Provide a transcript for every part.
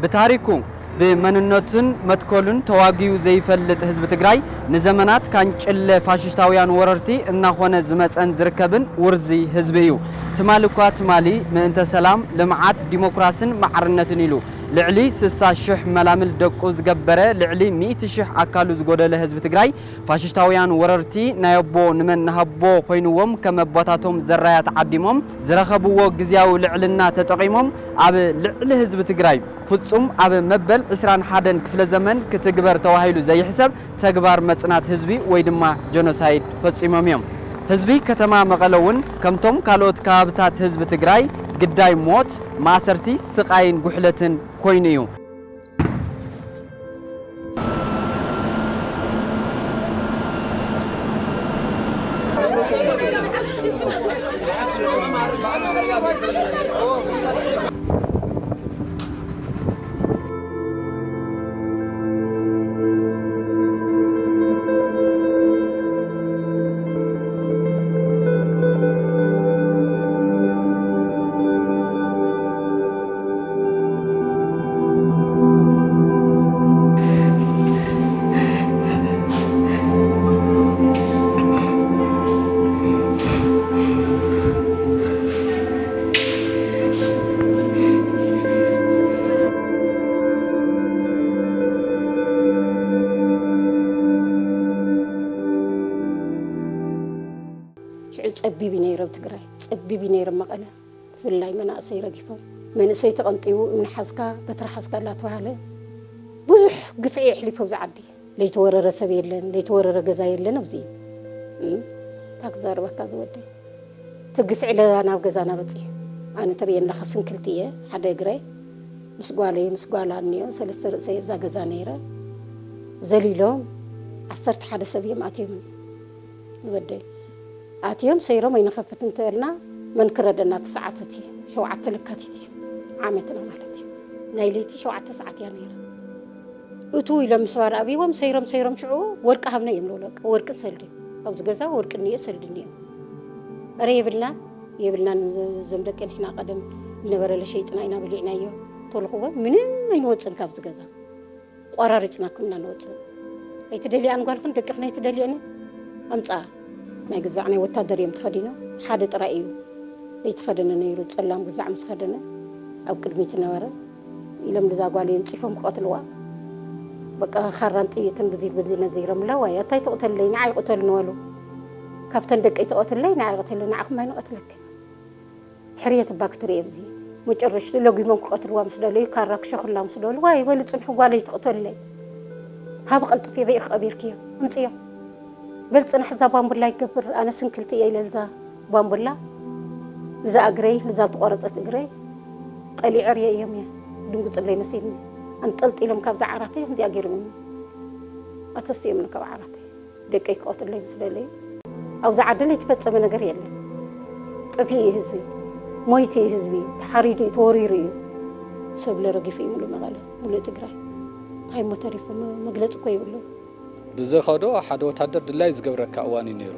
ብታሪኩ ብመንነቱን መትከሉን ተዋጊኡ ዘይፈልጥ ህዝቢ ትግራይ ንዘመናት ካንጭለ ፋሽስታውያን ወረርቲ እናኾነ ዝመፀን ዝርከብን ውርዚ ህዝቢ እዩ። ትማሊ እኳ ትማሊ ምእንተ ሰላም፣ ልምዓት፣ ዲሞክራስን ማዕርነትን ኢሉ ልዕሊ ስሳ ሽሕ መላምል ደቁ ዝገበረ ልዕሊ ሚእቲ ሽሕ ኣካሉ ዝጎደለ ህዝቢ ትግራይ ፋሽስታውያን ወረርቲ ናይ ኣቦ ንመን ንሃቦ ኮይንዎም ከም ኣቦታቶም ዘራያት ዓዲሞም ዝረኸብዎ ግዝያዊ ልዕልና ተጠቒሞም ኣብ ልዕሊ ህዝቢ ትግራይ ፍጹም ኣብ መበል ዕስራን ሓደን ክፍለ ዘመን ክትግበር ተባሂሉ ዘይሕሰብ ተግባር መጽናት ህዝቢ ወይ ድማ ጀኖሳይድ ፈጺሞም እዮም። ህዝቢ ከተማ መቐለ እውን ከምቶም ካልኦት ከባብታት ህዝቢ ትግራይ ግዳይ ሞት፣ ማእሰርቲ፣ ስቓይን ጉሕለትን ኮይኑ እዩ። ሽዑ ጸቢብ እዩ ነይሩ ኣብ ትግራይ፣ ጸቢብ እዩ ነይሩ ኣብ መቐለ። ብፍላይ መናእሰይ ረጊፎም፣ መንእሰይ ተቐንጢቡ፣ እምኒ ሓዝካ፣ በትሪ ሓዝካ እናተባህለ ብዙሕ ግፍዒ የሕሊፉ ኣብዚ ዓዲ። ለይተወረረ ሰብ የለን፣ ለይተወረረ ገዛ የለን ኣብዚ። እም፣ እንታይ ክዛረበካ ዝወደይ? እቲ ግፍዒ ለላ ናብ ገዛና በጺሑ። ኣነ ትርእየኒ ኣለኻ፣ ስንክልቲ እየ፣ ሓደ እግረይ ምስ ጓለይ፣ ምስ ጓላ እኒኦ፣ ሰለስተ ርእሰይ ኣብዛ ገዛ ነይረ። ዘሊሎም ዓሰርተ ሓደ ሰብ እዮም ኣትዮም። ዝወደይ ኣትዮም ሰይሮም ኣይንኸፍት እንተልና፣ መን ክረደና? እቲ ሰዓት እቲ ሸውዓተ ለካቲት እዩ፣ ዓመትና ማለት እዩ። ናይ ለይቲ ሸውዓተ ሰዓት እያ ነይራ። እቱ ኢሎም ምስ ባር ኣብይዎም ሰይሮም፣ ሰይሮም ሽዑ ወርቂ ሃብነ እዮም ንብሎ። ወርቂ ሰልዲ፣ ኣብዚ ገዛ ወርቂ እኒኦ፣ ሰልዲ እኒኦ። እረ የብልናን፣ የብልናን። እዞም ደቂ ንሕና ቀደም ዝነበረ ለሸይጥና ኢና በሊዕናዮ። ተልኽዎ ምንም ኣይንወፅን ካብዚ ገዛ። ቆራሪፅናኩም ኢና ንወፅእ። ኣይትደልያን ጓልክን ደቅኽን ኣይትደልየን? ኣምፅኣ። ናይ ግዛዕ ናይ ወታደር እዮም ተኸዲኖም። ሓደ ጥራይ እዩ ዘይተኸደነ ነይሩ፣ ፀላም ግዛዕ ምስ ኸደነ ኣብ ቅድሚት ነበረ። ኢሎም ልዛ ጓል የንፂፎም ክቐትልዋ። በቃ፣ ካራን ጥይትን ብዚ ብዚ ነዚሮምላ። ዋይ፣ ኣታይ ትቕተልለይ? ንዓይ ቅተሉኒ በሉ። ካብተን ደቀይ ትቐትለይ፣ ንዓይ ቅተለይ፣ ንዓኹም ኣይንቐትለክን። ሕርየት እባ ክትርኢ ኣብዚ። መጨረሽቱ ለጒሞም ክቐትልዋ ምስ ደለዩ፣ ካራ ክሸኹላ ምስ ደለዩ፣ ዋይ በሉ፣ ጽንሑ፣ ጓለይ ትቕተለይ። ሃቢ ቀልጥፊ፣ በይ ኢኺ ቀቢርክዮ? ኣምጽዮ። በል ጽናሕ፣ እዛ ባምቡላ ይገብር፣ ኣነ ስንክልቲ እየ ኢለ፣ እዛ ባምቡላ እዛ እግረይ፣ እዛ ዝተቖረጸት እግረይ ቀሊዐ ርእየዮም እየ። ድንጉጽለይ መሲልኒ። ኣንጠልጢሎም ካብዛ ዓራተይ ከምዚኣ ገይሮምኒ። ኣተስዮምኒ ካብ ዓራተይ። ደቀይ ክቐትለይ ምስ ደለዩ፣ ኣብዚ ዓዲ ለይተፈጸመ ነገር የለን። ጠፊኡ እዩ ህዝቢ፣ ሞይቱ እዩ ህዝቢ፣ ተሓሪዱ እዩ፣ ተወሪሩ እዩ። ሰብለ ረጊፉ እዩ ሙሉእ መቐለ፣ ሙሉእ ትግራይ። እንታይ እሞ ተሪፉ? መ-፣ መግለጺ እኮ የብሉን። ብዘኸዶ ሓደ ወታደር ድላይ ዝገብረካ እዋን እዩ ነይሩ።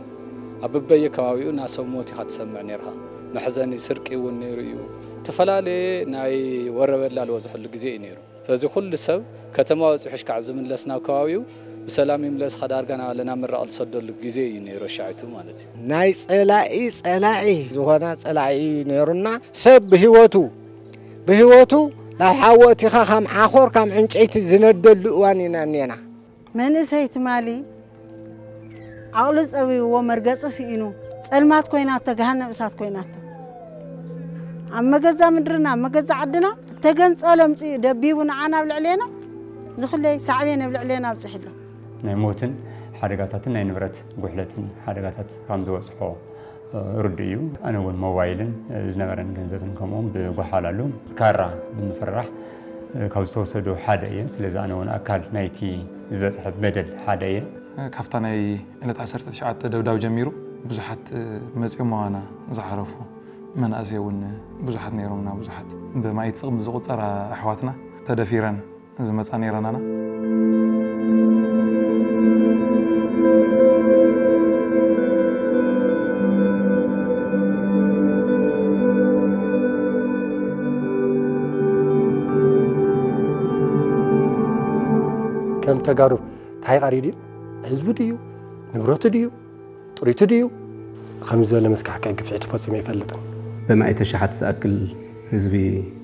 ኣብ በበየ ከባቢኡ ናሰብ ሞት ኢኻ ትሰምዕ ነይርኻ። መሕዘኒ ስርቂ እውን ነይሩ እዩ። ዝተፈላለየ ናይ ወረበላ ዝበዝሐሉ ግዜ እዩ ነይሩ። ስለዚ ኩሉ ሰብ ከተማ ወፂሑ ሽካዕ ዝምለስ ናብ ከባቢኡ ብሰላም ይምለስ፣ ኸዳርጋ ናብ ለና ምራቕ ዝሰደሉ ግዜ እዩ ነይሩ፣ ሻዒቱ ማለት እዩ። ናይ ጸላኢ ጸላኢ ዝኾና ጸላኢ እዩ ነይሩና። ሰብ ብህይወቱ፣ ብህይወቱ ናብ ሓዊ ኣእቲኻ ካብ ዓኾር ካብ ዕንጨይቲ ዝነደሉ እዋን ኢና እኔና። መንእሰይ ትማሊ ዓቕሉ ጸቢብዎ፣ መርገጺ ስኢኑ፣ ጸልማት ኮይናቶ፣ ገሃነብ እሳት ኮይናቶ። ኣብ መገዛ ምድርና፣ ኣብ መገዛ ዓድና፣ እተገንጸሎ ኣምጺኡ ደቢቡ ንዓና ኣብ ልዕሌና፣ ዝኹለይ ሳዕቤን ኣብ ልዕሌና ኣብጺሑ ኣሎ። ናይ ሞትን ሓደጋታትን ናይ ንብረት ጉሕለትን ሓደጋታት ከም ዝበጽሖ፣ እ፣ ርዱእ እዩ። ኣነ እውን ሞባይልን፣ እ፣ ዝነበረን ገንዘብን ከምኡውን ብጓሓላሉ ካራ ብምፍርራሕ፣ እ፣ ካብ ዝተወሰዱ ሓደ እየ። ስለዚ ኣነ እውን ኣካል ናይቲ ዝበጽሐ በደል ሓደ እየ። ካብታ ናይ ዕለት ዓሰርተ ትሽዓተ ደብዳብ ጀሚሩ ብዙሓት መጺኦም ኣባና ዝዓረፉ መናእሰይ እውን ብዙሓት ነይሮምና። ብዙሓት ብማኢት ስቕም ዝቑጸራ ኣሕዋትና ተደፊረን ዝመጻ ነይረናና። ንተጋሩ እንታይ ቀሪዱ እዩ? ህዝቡ ድዩ? ንብረቱ ድዩ? ጥሪቱ ድዩ? ከምዚ ዝበለ መስካሕክሒ ግፍዒ ተፈጺሙ ኣይፈልጥን። በማእቲ ሸሓት ዝኣክል ህዝቢ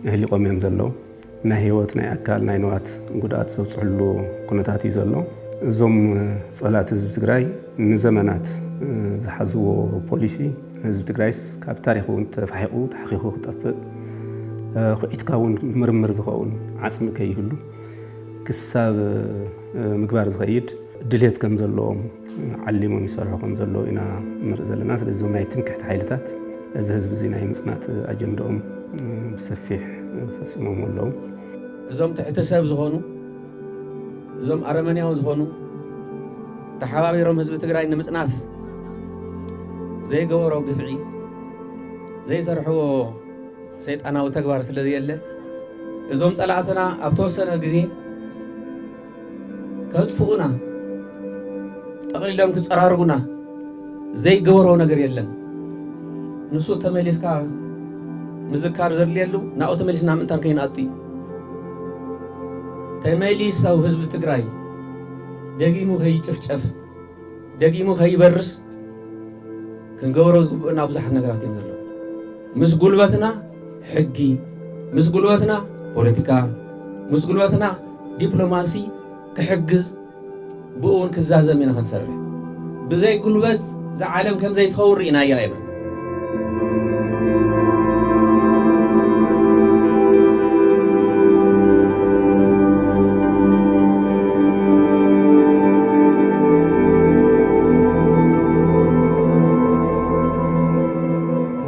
ኣህሊቖም እዮም ዘለዉ። ናይ ህይወት፣ ናይ ኣካል፣ ናይ ንዋት ጉድኣት ዘብፅሕሉ ኩነታት እዩ ዘሎ። እዞም ፀላእቲ ህዝቢ ትግራይ ንዘመናት ዝሓዝዎ ፖሊሲ ህዝቢ ትግራይስ ካብ ታሪክ እውን ተፋሒቑ ተሓኺኹ ክጠፍእ፣ ኩዒትካ እውን ንምርምር ዝኸውን ዓፅሚ ከይህሉ ክሳብ ምግባር ዝኸይድ ድሌት ከም ዘለዎም ዓሊሞም ይሰርሑ ከም ዘለዉ ኢና ንርኢ ዘለና። ስለዚ እዞም ናይ ትምክሕቲ ሓይልታት እዚ ህዝቢ እዚ ናይ ምፅናት ኣጀንዳኦም ብሰፊሕ ፈፂሞም ኣለዉ። እዞም ትሕቲ ሰብ ዝኾኑ፣ እዞም ኣረመንያዊ ዝኾኑ፣ ተሓባቢሮም ህዝቢ ትግራይ ንምፅናት ዘይገበሮ ግፍዒ፣ ዘይሰርሕዎ ሰይጣናዊ ተግባር ስለ ዘየለ፣ እዞም ጸላእትና ኣብ ተወሰነ ግዜ ከጥፍኡና፣ ጠቕሊሎም ክጸራርጉና ዘይገበሮ ነገር የለን። ንሱ ተመሊስካ ምዝካር ዘድልየሉ፣ ናብኡ ተመሊስና ምእንታን ከይንኣቱ እዩ። ተመሊስ ኣብ ህዝቢ ትግራይ ደጊሙ ከይጭፍጨፍ፣ ደጊሙ ከይበርስ ክንገብሮ ዝግብኡና ብዙሓት ነገራት እዮም ዘለዉ። ምስ ጉልበትና ሕጊ፣ ምስ ጉልበትና ፖለቲካ፣ ምስ ጉልበትና ዲፕሎማሲ ክሕግዝ፣ ብኡ እውን ክዛዘም ኢና ክንሰርሕ። ብዘይ ጉልበት እዛ ዓለም ከም ዘይትኸውን ርኢናያ ኢና።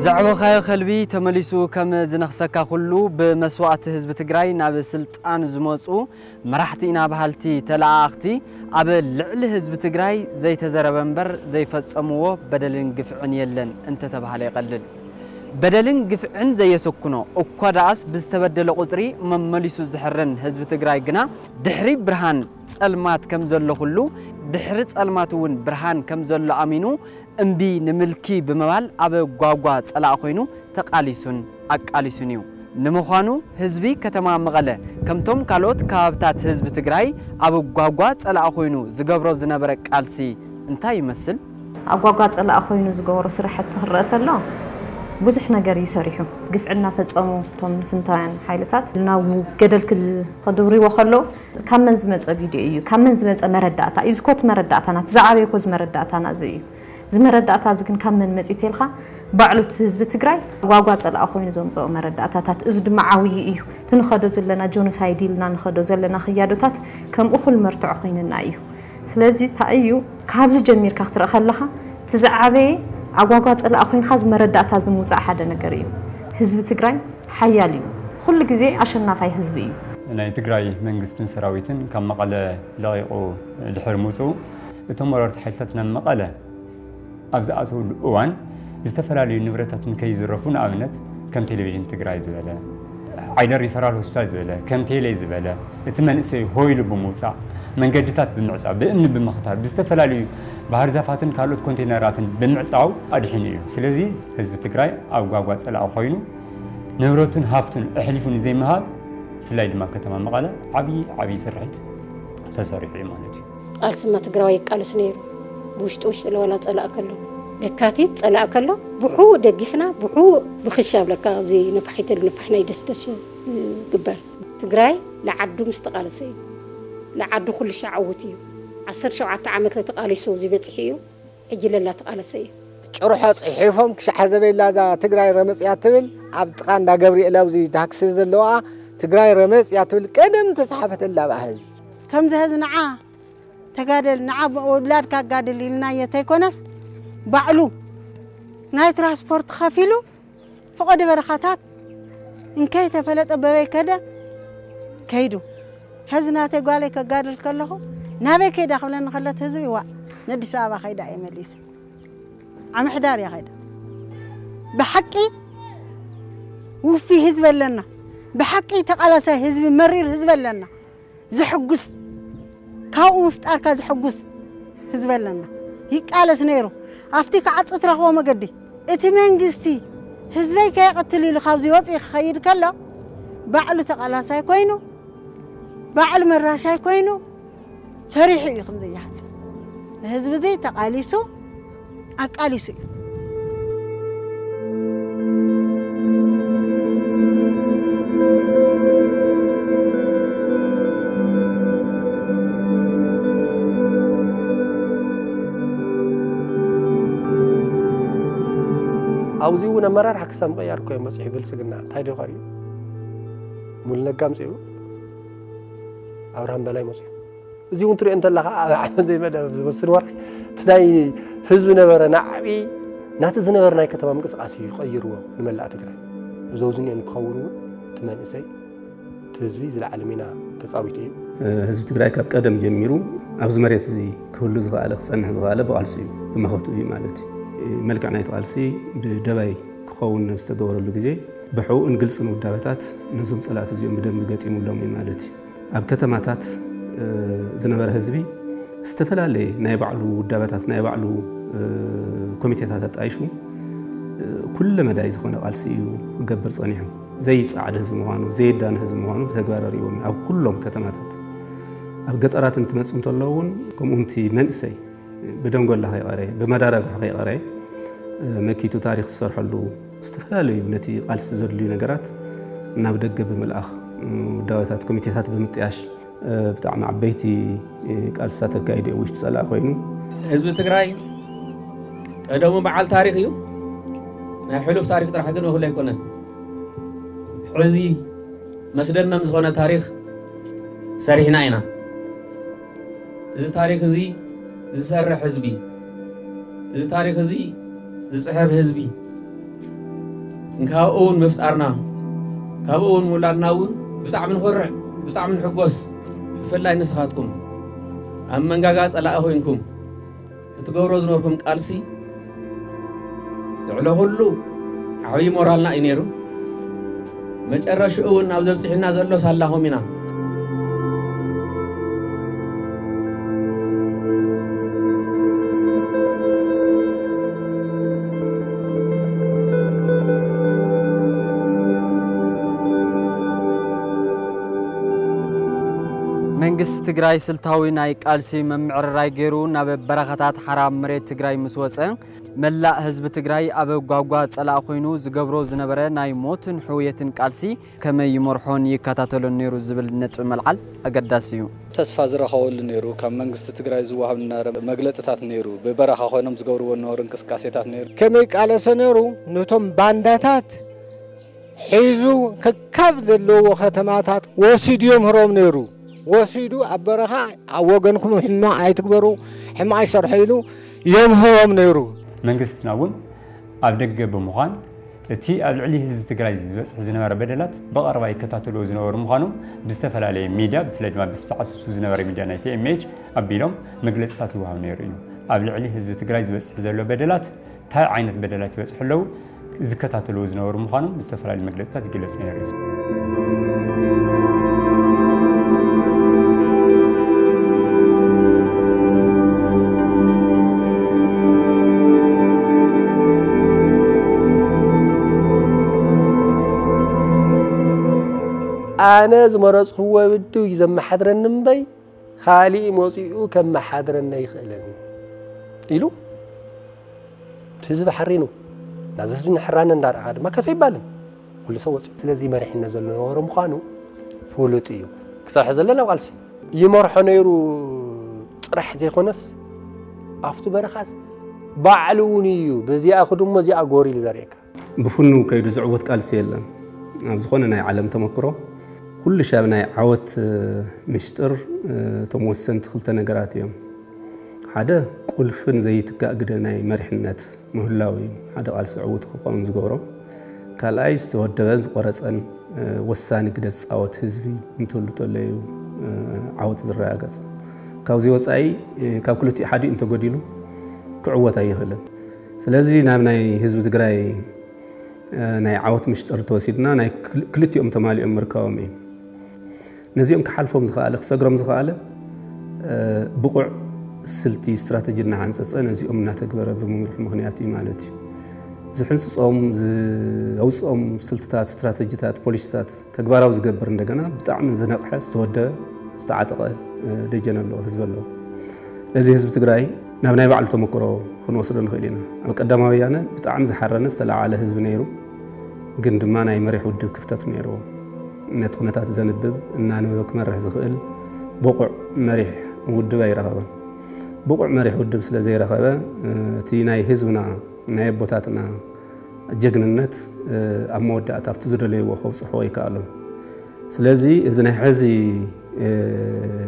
ዘዕበኻዮ ከልቢ ተመሊሱ ከም ዝነኽሰካ ኩሉ፣ ብመስዋእቲ ህዝቢ ትግራይ ናብ ስልጣን ዝመፁ መራሕቲ ኢና በሃልቲ ተለኣኣኽቲ ኣብ ልዕሊ ህዝቢ ትግራይ ዘይተዘረበ እምበር ዘይፈፀምዎ በደልን ግፍዕን የለን እንተተባሃለ ይቐልል። በደልን ግፍዕን ዘየሰኩኖ እኳ ደኣስ ብዝተበደለ ቁፅሪ መመሊሱ ዝሕረን ህዝቢ ትግራይ ግና ድሕሪ ብርሃን ጸልማት ከም ዘሎ ኩሉ ድሕሪ ጸልማት እውን ብርሃን ከም ዘሎ ኣሚኑ እምቢ ንምልኪ ብምባል ኣብ ጓጓ ጸላኢ ኮይኑ ተቓሊሱን ኣቃሊሱን እዩ። ንምዃኑ ህዝቢ ከተማ መቐለ ከምቶም ካልኦት ከባብታት ህዝቢ ትግራይ ኣብ ጓጓ ጸላኢ ኮይኑ ዝገብሮ ዝነበረ ቃልሲ እንታይ ይመስል? ኣብ ጓጓ ጸላኢ ኮይኑ ዝገበሮ ስራሕቲ ክረአ ተሎ ብዙሕ ነገር እዩ ሰሪሑ። ግፍዒ እናፈጸሙ እቶም ንፍንታውያን ሓይልታት ናብ ገደል ክል-፣ ከድውርዎ ከለዉ ካብ መን ዝመጸ ቪድዮ እዩ? ካብ መን ዝመጸ መረዳእታ እዩ? እዚ ኮ እቲ መረዳእታና፣ እቲ ዝዓበየ ኮ እዚ መረዳእታና እዚ እዩ። እዚ መረዳእታ እዚ ግን ካብ መን መጺኡ ተልካ? ባዕሉ እቲ ህዝቢ ትግራይ ጓጓ ጸላኢ ኮይኑ ዘምጽኦ መረዳእታታት። እዚ ድማ ዓብዪ እዩ። እቲ ንኸዶ ዘለና ጆኖሳይድ ኢልና ንኸዶ ዘለና ክያዶታት ከም እኹል መርትዖ ኮይንና እዩ። ስለዚ እንታይ እዩ፣ ካብዚ ጀሚርካ ክትርኢ ከለኻ፣ እቲ ዝዓበየ ኣጓጓ ጸላኢ ኮይንካ እዚ መረዳእታ እዚ ምውጻእ ሓደ ነገር እዩ። ህዝቢ ትግራይ ሓያል እዩ። ኩሉ ግዜ ኣሸናፋይ ህዝቢ እዩ። ናይ ትግራይ መንግስትን ሰራዊትን ካብ መቐለ ለቒቑ ድሕሪ ምውፅኡ፣ እቶም ወረርቲ ሓይልታት ናብ መቐለ ኣብ ዝኣተውሉ እዋን፣ ዝተፈላለዩ ንብረታት ንከይዝረፉ፣ ንኣብነት ከም ቴሌቪዥን ትግራይ ዝበለ፣ ዓይደር ሪፈራል ሆስፒታል ዝበለ፣ ከም ቴሌ ዝበለ፣ እቲ መንእሰይ ሆ ኢሉ ብምውፃእ፣ መንገድታት ብምዕፃው፣ ብእምኒ ብምኽታር፣ ብዝተፈላለዩ ባህር ዛፋትን ካልኦት ኮንቴነራትን ብምዕፃው ኣድሒኑ እዩ። ስለዚ ህዝቢ ትግራይ ኣብ ጓጓ ጸላኢ ኮይኑ ንብረቱን ሃፍቱን ኣሕሊፉ ንዘይምሃብ፣ ብፍላይ ድማ ከተማ መቐለ ዓብዪ ዓብዪ ስርሒት ተሰሪሑ እዩ ማለት እዩ። ቃልስማ ትግራዋይ ይቃለስ ነይሩ። ብውሽጢ ውሽጢ ለዋላ ጸላእ ከሎ፣ ለካቲት ጸላእ ከሎ፣ ብሕው ደጊስና፣ ብሕው ብኽሻ ብለካ፣ ኣብዚ ነፋሒት ሉ ነፋሕ ናይ ደስደስ ግበር። ትግራይ ለዓዱ ምስ ተቃለሰ እዩ። ለዓዱ ኩሉ ሻዕ ዕውት እዩ። ዓሰርተ ሸውዓተ ዓመት ለተቃሊሱ ኣብዚ በፂሑ እዩ። ሕጂ ለላ ተቃለሰ እዩ። ጭርሖ ጽሒፎም ክሻሕ ዘበላ እዛ ትግራይ ረመጽ እያ ትብል፣ ኣብ ጥቓ እንዳ ገብርኤል ኣብዚ ታክሲ ዘለዋ ትግራይ ረመጽ እያ ትብል ቀደም ተጻሓፈተላ ብኣ ህዝቢ። ከምዚ ሀዚ ንዓ ተጋደል፣ ንዓ ውላድካ ኣጋድል ኢልናዮ ተይኮነስ፣ ባዕሉ ናይ ትራንስፖርት ከፊሉ፣ ፈቐዶ በረኻታት እንከይ ተፈለጠ በበይ ከደ ከይዱ። ሀዚ ናተይ ጓለይ ከጋድል ከለኹ፣ ናበይ ከይዳ ክብለኒ ከሎ፣ እቲ ህዝቢ፣ ዋእ፣ ነዲስ ኣበባ ከይዳ እየ መሊሰ። ኣምሕዳር እያ ከይዳ። ብሓቂ ውፉይ ህዝቢ ኣለና። ብሓቂ ተቓላሳይ ህዝቢ፣ መሪር ህዝቢ ኣለና። ዘሕጉስ፣ ካብኡ ምፍጣርካ ዘሕጉስ ህዝቢ ኣለና። ይቃለስ ነይሩ። ኣብቲ ክዓጽ ትረኽቦ መገዲ፣ እቲ መንግስቲ ህዝበይ ከየቐትል ኢሉ ካብዚ ወፂኡ ክኸይድ ከሎ፣ ባዕሉ ተቓላሳይ ኮይኑ፣ ባዕሉ መራሻይ ኮይኑ፣ ሰሪሑ እዩ ከም ዘይሓል ህዝቢ እዚ ተቓሊሱ ኣቃሊሱ እዩ። ኣብዚ እውን ኣመራርሓ ክሳብ ምቕያር እኮ እዮም መፅሑ። ብልፅግና እንታይ ዶ ቀሪቡ? ሙሉ ነጋ ኣምፅኡ፣ ኣብርሃም በላይ መፅኡ። እዚ እውን ትሪኦ እንተለኻ ኣብ ዓመት ዘይመደብ ዝወስድ ወርሒ እቲ ናይ ህዝቢ ነበረ ናዕቢ ናቲ ዝነበረ ናይ ከተማ ምንቅስቃስ እዩ ቀይርዎ ንመላእ ትግራይ። እዚ ኣብዚ እኒኦ ክኸውን እውን እቲ መንእሰይ እቲ ህዝቢ ዝለዓለ ሚና ተፃዊቱ እዩ። ህዝቢ ትግራይ ካብ ቀደም ጀሚሩ ኣብዚ መሬት እዚ ክህሉ ዝኸኣለ ክፀንሕ ዝኸኣለ ብቃልሱ እዩ ብመኸቱ እዩ ማለት እዩ። መልክዕ ናይቲ ቃልሲ ብደባይ ክኸውን ዝተገበረሉ ግዜ ብሕቡእን ግልፅን ውዳበታት ነዞም ፀላእቲ እዚኦም ብደንቢ ገጢሙሎም እዩ ማለት እዩ። ኣብ ከተማታት ዝነበረ ህዝቢ ዝተፈላለየ ናይ ባዕሉ ውዳበታት ናይ ባዕሉ ኮሚቴታት ኣጣይሹ ኩለ መዳይ ዝኾነ ቃልሲ እዩ ክገብር ፀኒሑ። ዘይፀዓድ ህዝቢ ምዃኑ ዘይዳነ ህዝቢ ምዃኑ ብተግባር ኣርእዎም ኣብ ኩሎም ከተማታት። ኣብ ገጠራት እንትመፁ እንተለዉ እውን ከምኡ እቲ መንእሰይ ብደንጎላ ከይቐረየ ብመዳዳጉሒ ከይቐረየ መኪቱ ታሪኽ ዝሰርሐሉ ዝተፈላለዩ ነቲ ቃልሲ ዘድልዩ ነገራት ናብ ደገ ብምልኣኽ ውዳበታት ኮሚቴታት ብምጥያሽ ብጣዕሚ ዓበይቲ ቃልስታት ኣካይዱ እዩ ውሽጢ ፀላእ ኮይኑ። ህዝቢ ትግራይ ቀደሙ በዓል ታሪኽ እዩ። ናይ ሕሉፍ ታሪኽ ጥራሕ ግን እኹል ኣይኮነን። ሕዚ መስደመም ዝኾነ ታሪኽ ሰሪሕና ኢና። እዚ ታሪኽ እዚ ዝሰርሕ ህዝቢ፣ እዚ ታሪኽ እዚ ዝፅሕፍ ህዝቢ እንካብኡ እውን ምፍጣርና ካብኡ እውን ምውላድና እውን ብጣዕሚ ንኾርዕ፣ ብጣዕሚ ንሕጎስ። ብፍላይ ንስኻትኩም ኣብ መንጋጋ ፀላኢ ኮይንኩም እትገብሮ ዝነበርኩም ቃልሲ ልዕሊ ኩሉ ዓብዪ ሞራልና እዩ ነይሩ። መጨረሽኡ እውን ናብ ዘብፅሕና ዘሎ ሳላኹም ኢና። መንግስቲ ትግራይ ስልታዊ ናይ ቃልሲ ምምዕርራይ ገይሩ ናብ በረኻታት ሓራ መሬት ትግራይ ምስ ወፀ፣ መላእ ህዝቢ ትግራይ ኣብ ጓጓ ፀላእ ኮይኑ ዝገብሮ ዝነበረ ናይ ሞትን ሕውየትን ቃልሲ ከመይ ይመርሖን ይከታተሎን ነይሩ ዝብል ነጥቢ መልዓል ኣገዳሲ እዩ። ተስፋ ዝረኸበሉ ነይሩ። ካብ መንግስቲ ትግራይ ዝወሃብ ዝነበረ መግለፅታት ነይሩ። ብበረኻ ኮይኖም ዝገብርዎ ዝነበሩ እንቅስቃሴታት ነይሩ። ከመይ ቃለሰ ነይሩ? ነቶም ባንዳታት ሒዙ ከካብ ዘለዎ ከተማታት ወሲዱ የምህሮም ነይሩ። ወሲዱ ኣብ በረኻ ኣብ ወገንኩም ሕማቕ ኣይትግበሩ፣ ሕማቕ ኣይሰርሑ ኢሉ የምህሮም ነይሩ። መንግስትና እውን ኣብ ደገ ብምዃን እቲ ኣብ ልዕሊ ህዝቢ ትግራይ ዝበፅሕ ዝነበረ በደላት ብቐረባ ይከታተልዎ ዝነበሩ ምዃኖም ብዝተፈላለየ ሚድያ ብፍላይ ድማ ብፍፃዕ ስሱ ዝነበረ ሚድያ ናይ ቲ ኤም ኤች ኣቢሎም መግለፅታት ይወሃብ ነይሩ እዩ። ኣብ ልዕሊ ህዝቢ ትግራይ ዝበፅሕ ዘሎ በደላት እንታይ ዓይነት በደላት ይበፅሑ ኣለዉ ዝከታተልዎ ዝነበሩ ምዃኖም ብዝተፈላለዩ መግለፅታት ይግለፅ ነይሩ እዩ። ኣነ ዝመረፅክዎ ውድብ እዩ ዘመሓድረኒ እምበይ ካሊእ መፂኡ ከመሓድረኒ ኣይኽእልን ኢሉ እቲ ህዝቢ ሓሪኑ ናዚ ህዝቢ ንሕራነ እንዳረኣኻ ድማ ከፍ ኣይባልን። ኩሉ ሰብ ወፂኡ። ስለዚ መሪሕነት ዘሎ ነበረ ምዃኑ ፍሉጥ እዩ። ክሳብ ሕዚ ዘሎ ናብ ቃልሲ ይመርሖ ነይሩ ጥራሕ ዘይኮነስ ኣብቲ በረኻስ ባዕሉ እውን እዩ በዚኣ ክድሞ እዚኣ ጎር ኢሉ ዘርእየካ። ብፍኑ ከይዱ ዝዕወት ቃልሲ የለን። ኣብ ዝኾነ ናይ ዓለም ተመክሮ ኩሉ ሻብ ናይ ዓወት ምስጢር እቶም ወሰንቲ ክልተ ነገራት እዮም። ሓደ ቁልፍን ዘይትካእ ግደ ናይ መሪሕነት ምህላው እዩ ሓደ ቃልሲ ዕዉት ክኸውን ዝገብሮ። ካልኣይ ዝተወደበን ዝቆረፀን ወሳኒ ግደ ዝፃወት ህዝቢ እንትህሉ ተሎ እዩ ዓወት ዝረጋገፅ። ካብዚ ወፃኢ ካብ ክልቲኡ ሓዲኡ እንተጎዲሉ ክዕወት ኣይኽእልን። ስለዚ ናብ ናይ ህዝቢ ትግራይ ናይ ዓወት ምሽጥር ተወሲድና ናይ ክልቲኦም ተማሊኦም ምርካቦም እዩ። ነዚኦም ክሓልፎም ዝኸኣለ ክሰግሮም ዝኸኣለ ብቑዕ ስልቲ ስትራተጂ እናሓንፀፀ ነዚኦም እናተግበረ ብምምርሑ ምኽንያት እዩ ማለት እዩ። ዝሕንፅፆም ዘውፅኦም ስልትታት ስትራተጂታት ፖሊሲታት ተግባራዊ ዝገብር እንደገና ብጣዕሚ ዝነቕሐ ዝተወደበ ዝተዓጠቐ ደጀን ኣለዎ፣ ህዝቢ ኣለዎ። ነዚ ህዝቢ ትግራይ ናብ ናይ ባዕሉ ተመክሮ ክንወስዶ ንኽእል ኢና። ኣብ ቀዳማዊ ወያነ ብጣዕሚ ዝሓረነ ዝተለዓለ ህዝቢ ነይሩ፣ ግን ድማ ናይ መሪሕ ውድብ ክፍተት ነይርዎ። ነቲ ኩነታት ዘንብብ፣ እናንበበ ክመርሕ ዝኽእል ብቑዕ መሪሕ ውድብ ኣይረኸበን። ብቑዕ መሪሕ ውድብ ስለ ዘይረኸበ፣ እቲ ናይ ህዝብና፣ ናይ ኣቦታትና ጀግንነት ኣብ መወዳእታ ኣብቲ ዝደለይዎ ከብፅሖ ኣይከኣሉን። ስለዚ እዚ ናይ ሕዚ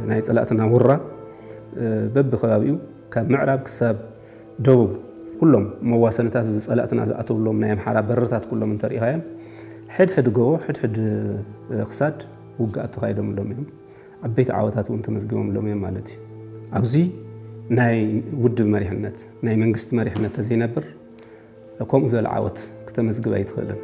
ናይ ፀላእትና ውራ በብከባቢኡ ካብ ምዕራብ ክሳብ ደቡብ ኩሎም መዋሰንታት እዚ ፀላእትና ዝኣተውሎም ናይ ኣምሓራ በርታት ኩሎም እንተሪኢኻዮም ሕድሕድ ጎቦ ሕድሕድ ክሳድ ውግኣት ተኻይዶምሎም እዮም። ዓበይቲ ዓወታት እውን ተመዝጊቦምሎም እዮም ማለት እዩ። ኣብዚ ናይ ውድብ መሪሕነት ናይ መንግስቲ መሪሕነት ተዘይነብር ከምኡ ዝበለ ዓወት ክተመዝግብ ኣይትኽእልን።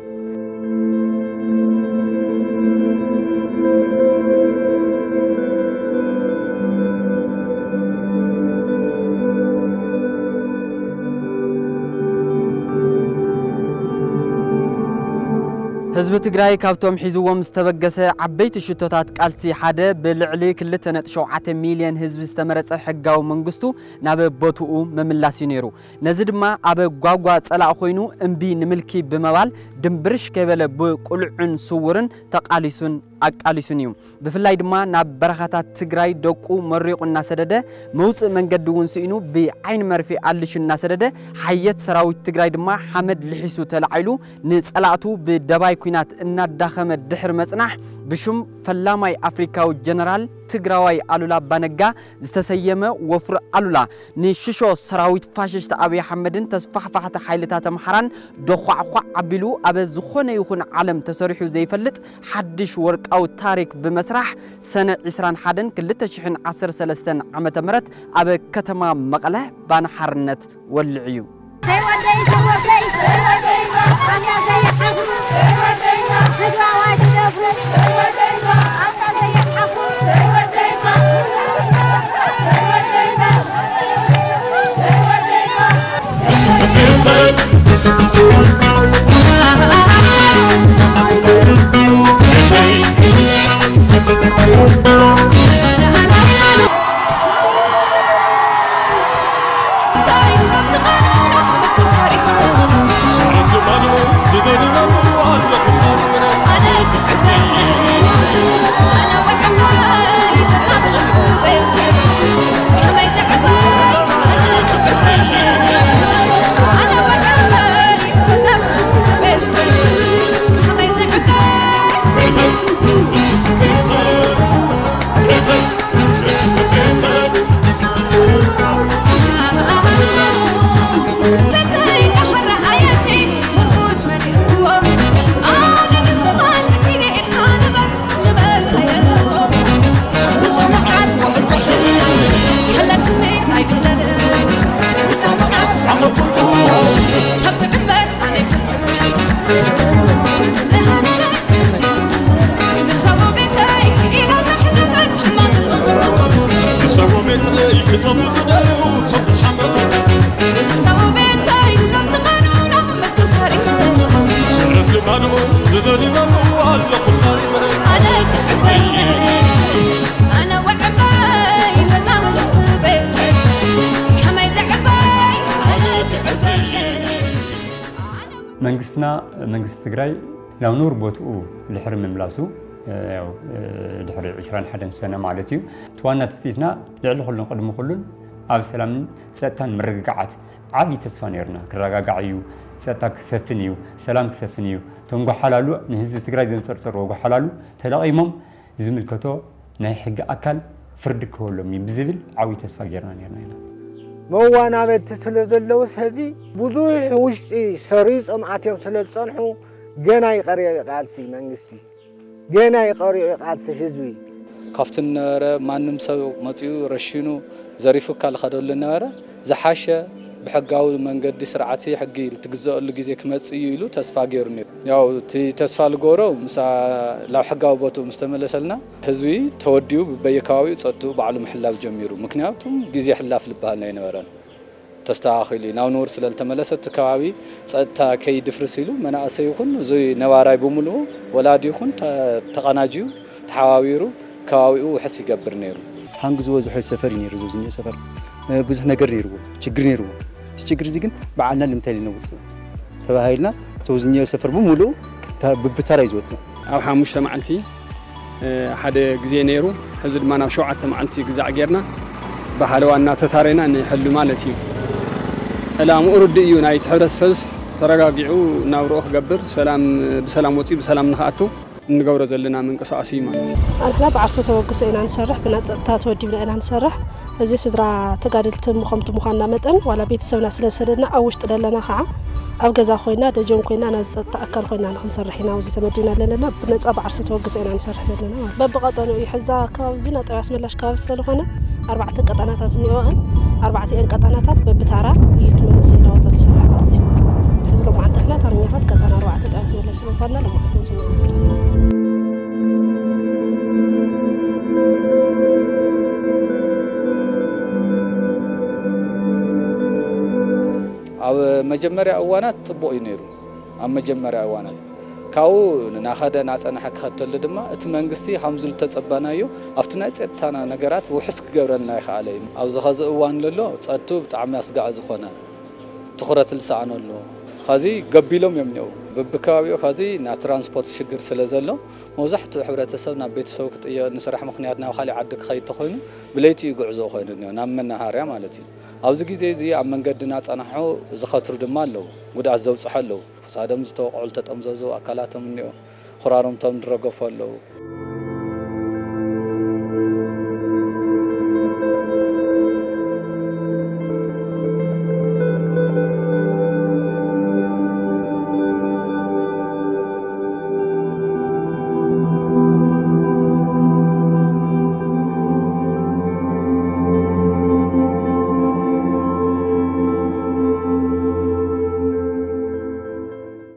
ህዝቢ ትግራይ ካብቶም ሒዝዎም ዝተበገሰ ዓበይቲ ሽቶታት ቃልሲ ሓደ ብልዕሊ ክልተ ነጥቢ ሸውዓተ ሚልዮን ህዝቢ ዝተመረፀ ሕጋዊ መንግስቱ ናብ ቦትኡ ምምላስ እዩ ነይሩ። ነዚ ድማ ኣብ ጓጓ ፀላእ ኮይኑ እምቢ ንምልኪ ብምባል ድምብርሽ ከይበለ ብቁልዑን ስውርን ተቃሊሱን ኣቃሊሱን እዩ። ብፍላይ ድማ ናብ በረኻታት ትግራይ ደቁ መሪቑ እናሰደደ መውፅእ መንገዲ እውን ስኢኑ ብዓይኒ መርፌ ኣልሹ እናሰደደ ሓየት ሰራዊት ትግራይ ድማ ሓመድ ልሒሱ ተላዒሉ ንፀላእቱ ብደባይ ኲናት እናዳኸመ ድሕሪ መፅናሕ ብሹም ፈላማይ ኣፍሪካዊ ጀነራል ትግራዋይ ኣሉላ ኣባነጋ ዝተሰየመ ወፍሪ ኣሉላ ንሽሾ ሰራዊት ፋሽስት ኣብይ ኣሕመድን ተስፋሕፋሕቲ ሓይልታት ኣምሓራን ዶዃዕዃዕ ኣቢሉ ኣብ ዝኾነ ይኹን ዓለም ተሰሪሑ ዘይፈልጥ ሓድሽ ወርቃዊ ታሪክ ብመስራሕ ሰነ ዕስራን ሓደን ክልተ ሽሕን ዓሰርተ ሰለስተን ዓመተ ምህረት ኣብ ከተማ መቐለ ባና ሓርነት ወልዕ እዩ። ሰይ ወደይ ሰይ ወደይ ሰይ ወደይ ኣና ዘይሓፉ ሰይ ወደይ ትግራዋይ ትደፍሩ ሰይ ወደይ ኣና ዘይሓፉ ሰይ ወደይ መንግስትና መንግስቲ ትግራይ ናብ ንቡር ቦትኡ ድሕሪ ምምላሱ ድሕሪ ዕስራን ሓደን ሰነ ማለት እዩ። እቲ ዋና ትፅኢትና ልዕሊ ኩሉን ቅድሚ ኩሉን ኣብ ሰላምን ፀጥታን ምርግጋዓት ዓብዪ ተስፋ ነይርና። ክረጋጋዕ እዩ፣ ፀጥታ ክሰፍን እዩ፣ ሰላም ክሰፍን እዩ። እቶም ጓሓላሉ ንህዝቢ ትግራይ ዘንፀርፀርዎ ጓሓላሉ ተለቒሞም ዝምልከቶ ናይ ሕጊ ኣካል ፍርዲ ክህበሎም እዩ ብዝብል ዓብዪ ተስፋ ጌርና ነርና ኢና። መዋናበድቲ ስለ ዘለውስ ሕዚ ብዙሕ ውሽጢ ሰሪጾም ኣትዮም ስለ ዝጸንሑ ገና ይቐርዮ እዩ ቃልሲ መንግስቲ፣ ገና ይቐርዮ እዩ ቃልሲ ህዝቢ። ካብቲ ነበረ ማንም ሰብ መጺኡ ረሺኑ ዘሪፉካ ልኸደሉ ነበረ። ዝሓሸ ብሕጋዊ መንገዲ ስርዓት ሕጊ ትግዘአሉ ግዜ ክመጽእ እዩ ኢሉ ተስፋ ገይሩ ነይሩ። ያው እቲ ተስፋ ልገብሮ ምስ ናብ ሕጋዊ ቦትኡ ምስ ተመለሰልና ህዝቢ ተወዲኡ በየከባቢኡ ጸጥትኡ ባዕሉ ምሕላው ጀሚሩ። ምክንያቱም ግዜ ሕላፍ ልበሃል ኣይነበረን። ተስተኻኺሉ እዩ። ናብ ንቡር ስለ ልተመለሰ እቲ ከባቢ ጸጥታ ከይድፍርስ ኢሉ መናእሰይ ይኹን እዚ ነባራይ ብምልኡ ወላዲ ይኹን ተቐናጅዩ ተሓባቢሩ ከባቢኡ ውሕስ ይገብር ነይሩ። ሃንግ ዝበዝሖ ሰፈር እዩ ነይሩ፣ እዚ ዝኒኦ ሰፈር። እ፣ ብዙሕ ነገር ነይርዎ፣ ችግር ነይርዎ። እቲ ችግር እዚ ግን በዓልና ንምንታይ ነውፅእ ተባሂልና፣ እዚ ዝኒኦ ሰፈር ብምሉእ ታ-፣ ብብተራ እዩ ዝወፅእ። ኣብ ሓሙሽተ መዓልቲ፣ እ፣ ሓደ ግዜ ነይሩ። ሕዚ ድማ ናብ ሸውዓተ መዓልቲ ግዛዕ ጌርና ብሓለዋ እናተታረና ንሕሉ ማለት እዩ። ዕላምኡ ርዱእ እዩ። ናይቲ ሕብረተሰብስ ተረጋጊዑ ናብርኡ ክገብር፣ ሰላም፣ ብሰላም ወፂኡ ብሰላም ንኽኣቱ እንገብሮ ዘለና ምንቅስቃስ እዩ ማለት እዩ። ኣንሕና ብዓርሰ ተበግሶ ኢና ንሰርሕ፣ ብናይ ጸጥታ ተወዲብና ኢና ንሰርሕ። እዚ ስድራ ተጋደልቲ ምኸምቲ ምዃንና መጠን፣ ዋላ ቤተሰብና ስለ ዝሰደድና፣ ኣብ ውሽጢ ዘለና ኸዓ ኣብ ገዛ ኮይና፣ ደጀን ኮይና፣ ናይ ጸጥታ ኣካል ኮይና ንኽንሰርሕ ኢና ኣብዚ ተመዲብና ዘለና። ብነጻ ብዓርሰ ተበግሶ ኢና ንሰርሕ ዘለና ማለት እዩ። በብቐጠኑ እዩ። ሕዛ ከባቢ እዚ ናይ ጠባይ ኣስመላሽ ከባቢ ስለ ዝኾነ፣ ኣርባዕተ ቀጠናታት እኒኦን፣ ኣርባዕቲኤን ቀጠናታት በብታራ ኢልት መንእሰይ እናወፀ ዝሰርሕ ማለት እዩ። ሕዚ ሎማዓንቲ ንሕና ታርኛታት ቀጠና ኣርባዕተ ጠባይ ኣስመላሽ ስለ ዝኾንና፣ ሎማዓንቲ ኣብዚ ኢና ንርከብ። ኣብ መጀመርያ እዋናት ጽቡቕ እዩ ነይሩ። ኣብ መጀመርያ እዋናት ካብኡ ናኸደ ናጸንሐ ክኸተሉ ድማ እቲ መንግስቲ ሃምዚ ዝተጸበናዮ ኣብቲ ናይ ጸጥታና ነገራት ውሕስ ክገብረልና ይኸኣለ እዩ። ኣብዚ ኸዚ እዋን ለሎ ጸጥቱ ብጣዕሚ ኣስጋኢ ዝኾነ ትኹረት ዝሰኣነሉ ኸዚ ገቢሎም እዮም እኒአው። በብከባቢኡ ኸዚ ናይ ትራንስፖርት ሽግር ስለ ዘሎ መብዛሕትኡ ሕብረተሰብ ናብ ቤተሰቡ ክጥየ-፣ ንስራሕ ምኽንያት ናብ ካሊእ ዓዲ ክኸይድ ተኾይኑ ብለይቲ እዩ ጉዕዞ ኮይኑ እኒኦ፣ ናብ መናሃርያ ማለት እዩ። ኣብዚ ግዜ እዚ ኣብ መንገዲ እናጸናሑ ዝኸትሩ ድማ ኣለዉ፣ ጉድኣት ዘብጽሑ ኣለዉ። ክሳዶም ዝተወቕዑ፣ ዝተጠምዘዙ ኣካላቶም እኒኦ፣ ኹራሩምቶም ዝረገፉ ኣለዉ።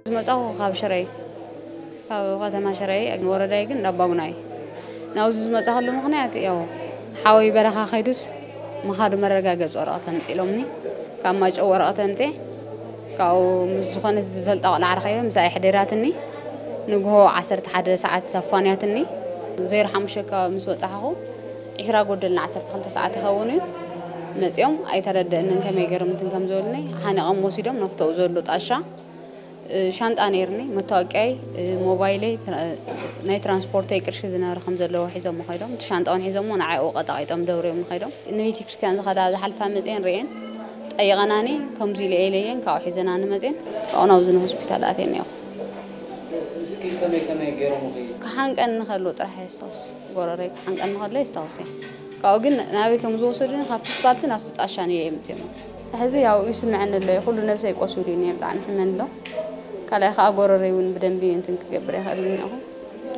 ዝመጻኹ ካብ ሽረ እዩ። ካብ ከተማ ሽረ እዩ፣ ወረዳይ ግን እንዳባጉና እዩ። ናብዚ ዝመጻኹሉ ምኽንያት ያው ሓወይ በረኻ ከይዱስ ምኻዱ መረጋገጺ ወረቐት ኣምጺ ኢሎምኒ። ካብ ማይጨው ወረቐት ኣምጺ፣ ካብኡ ምስ ዝኾነት ዝፈልጣ ቆልዓ ረኺበ፣ ምስኣ ኣሕዲራትኒ። ንግሆ ዓሰርተ ሓደ ሰዓት ኣፋንያትኒ። ዜሮ ሓሙሽተ ከባቢ ምስ በጻሕኹ፣ ዒስራ ጎደልና ዓሰርተ ክልተ ሰዓት ይኸውን እዩ። መጺኦም ኣይተረደእንን ከመይ ገይሮም እንትን ከም ዝበሉኒ፣ ሓኒቖም ወሲዶም ናብቲ ኣብኡ ዘሎ ጣሻ እ፣ ሻንጣ ነይርኒ፣ መታወቂያይ፣ እ፣ ሞባይለይ፣ ትራ-፣ ናይ ትራንስፖርተይ ቅርሺ ዝነበረ ከም ዘለዎ ሒዞሞ ከይዶም። እቲ ሻንጣ እውን ሒዞሞ ንዓይ ኣብኡ ቀጣቒጦም ደብርዮም ከይዶም። ንቤተ ክርስቲያን ዝኸዳ ዝሓልፋ መፅየን ርእየን ጠይቐናኒ፣ ከምዚ ኢለ ኢለየን ካብኡ ሒዘናኒ መፅየን። ካብኡ ናብዚ ንሆስፒታል ኣትየን እኒኦ። እስኪ ከመይ ከመይ ገይሮምኺ? ክሓንቀኒ ከሎ ጥራሕ የስታውስ፣ ጎረረይ ክሓንቀኒ ከሎ የስታውስ እየ። ካብኡ ግን ናበይ ከም ዝወሰዱኒ ካብቲ ስፓልቲ ናብቲ ጣሻ ንየ የምፅዮሞ። ሕዚ ያው ይስምዐኒ ኣሎ፣ ኩሉ ነብሰይ ቆሲሉ እዩ፣ ብጣዕሚ ሕመኒ ኣሎ። ካልኣይ ከዓ ጎረረይ እውን ብደንቢ እንትን ክገብር ኣይኽእልን እኒአኹ፣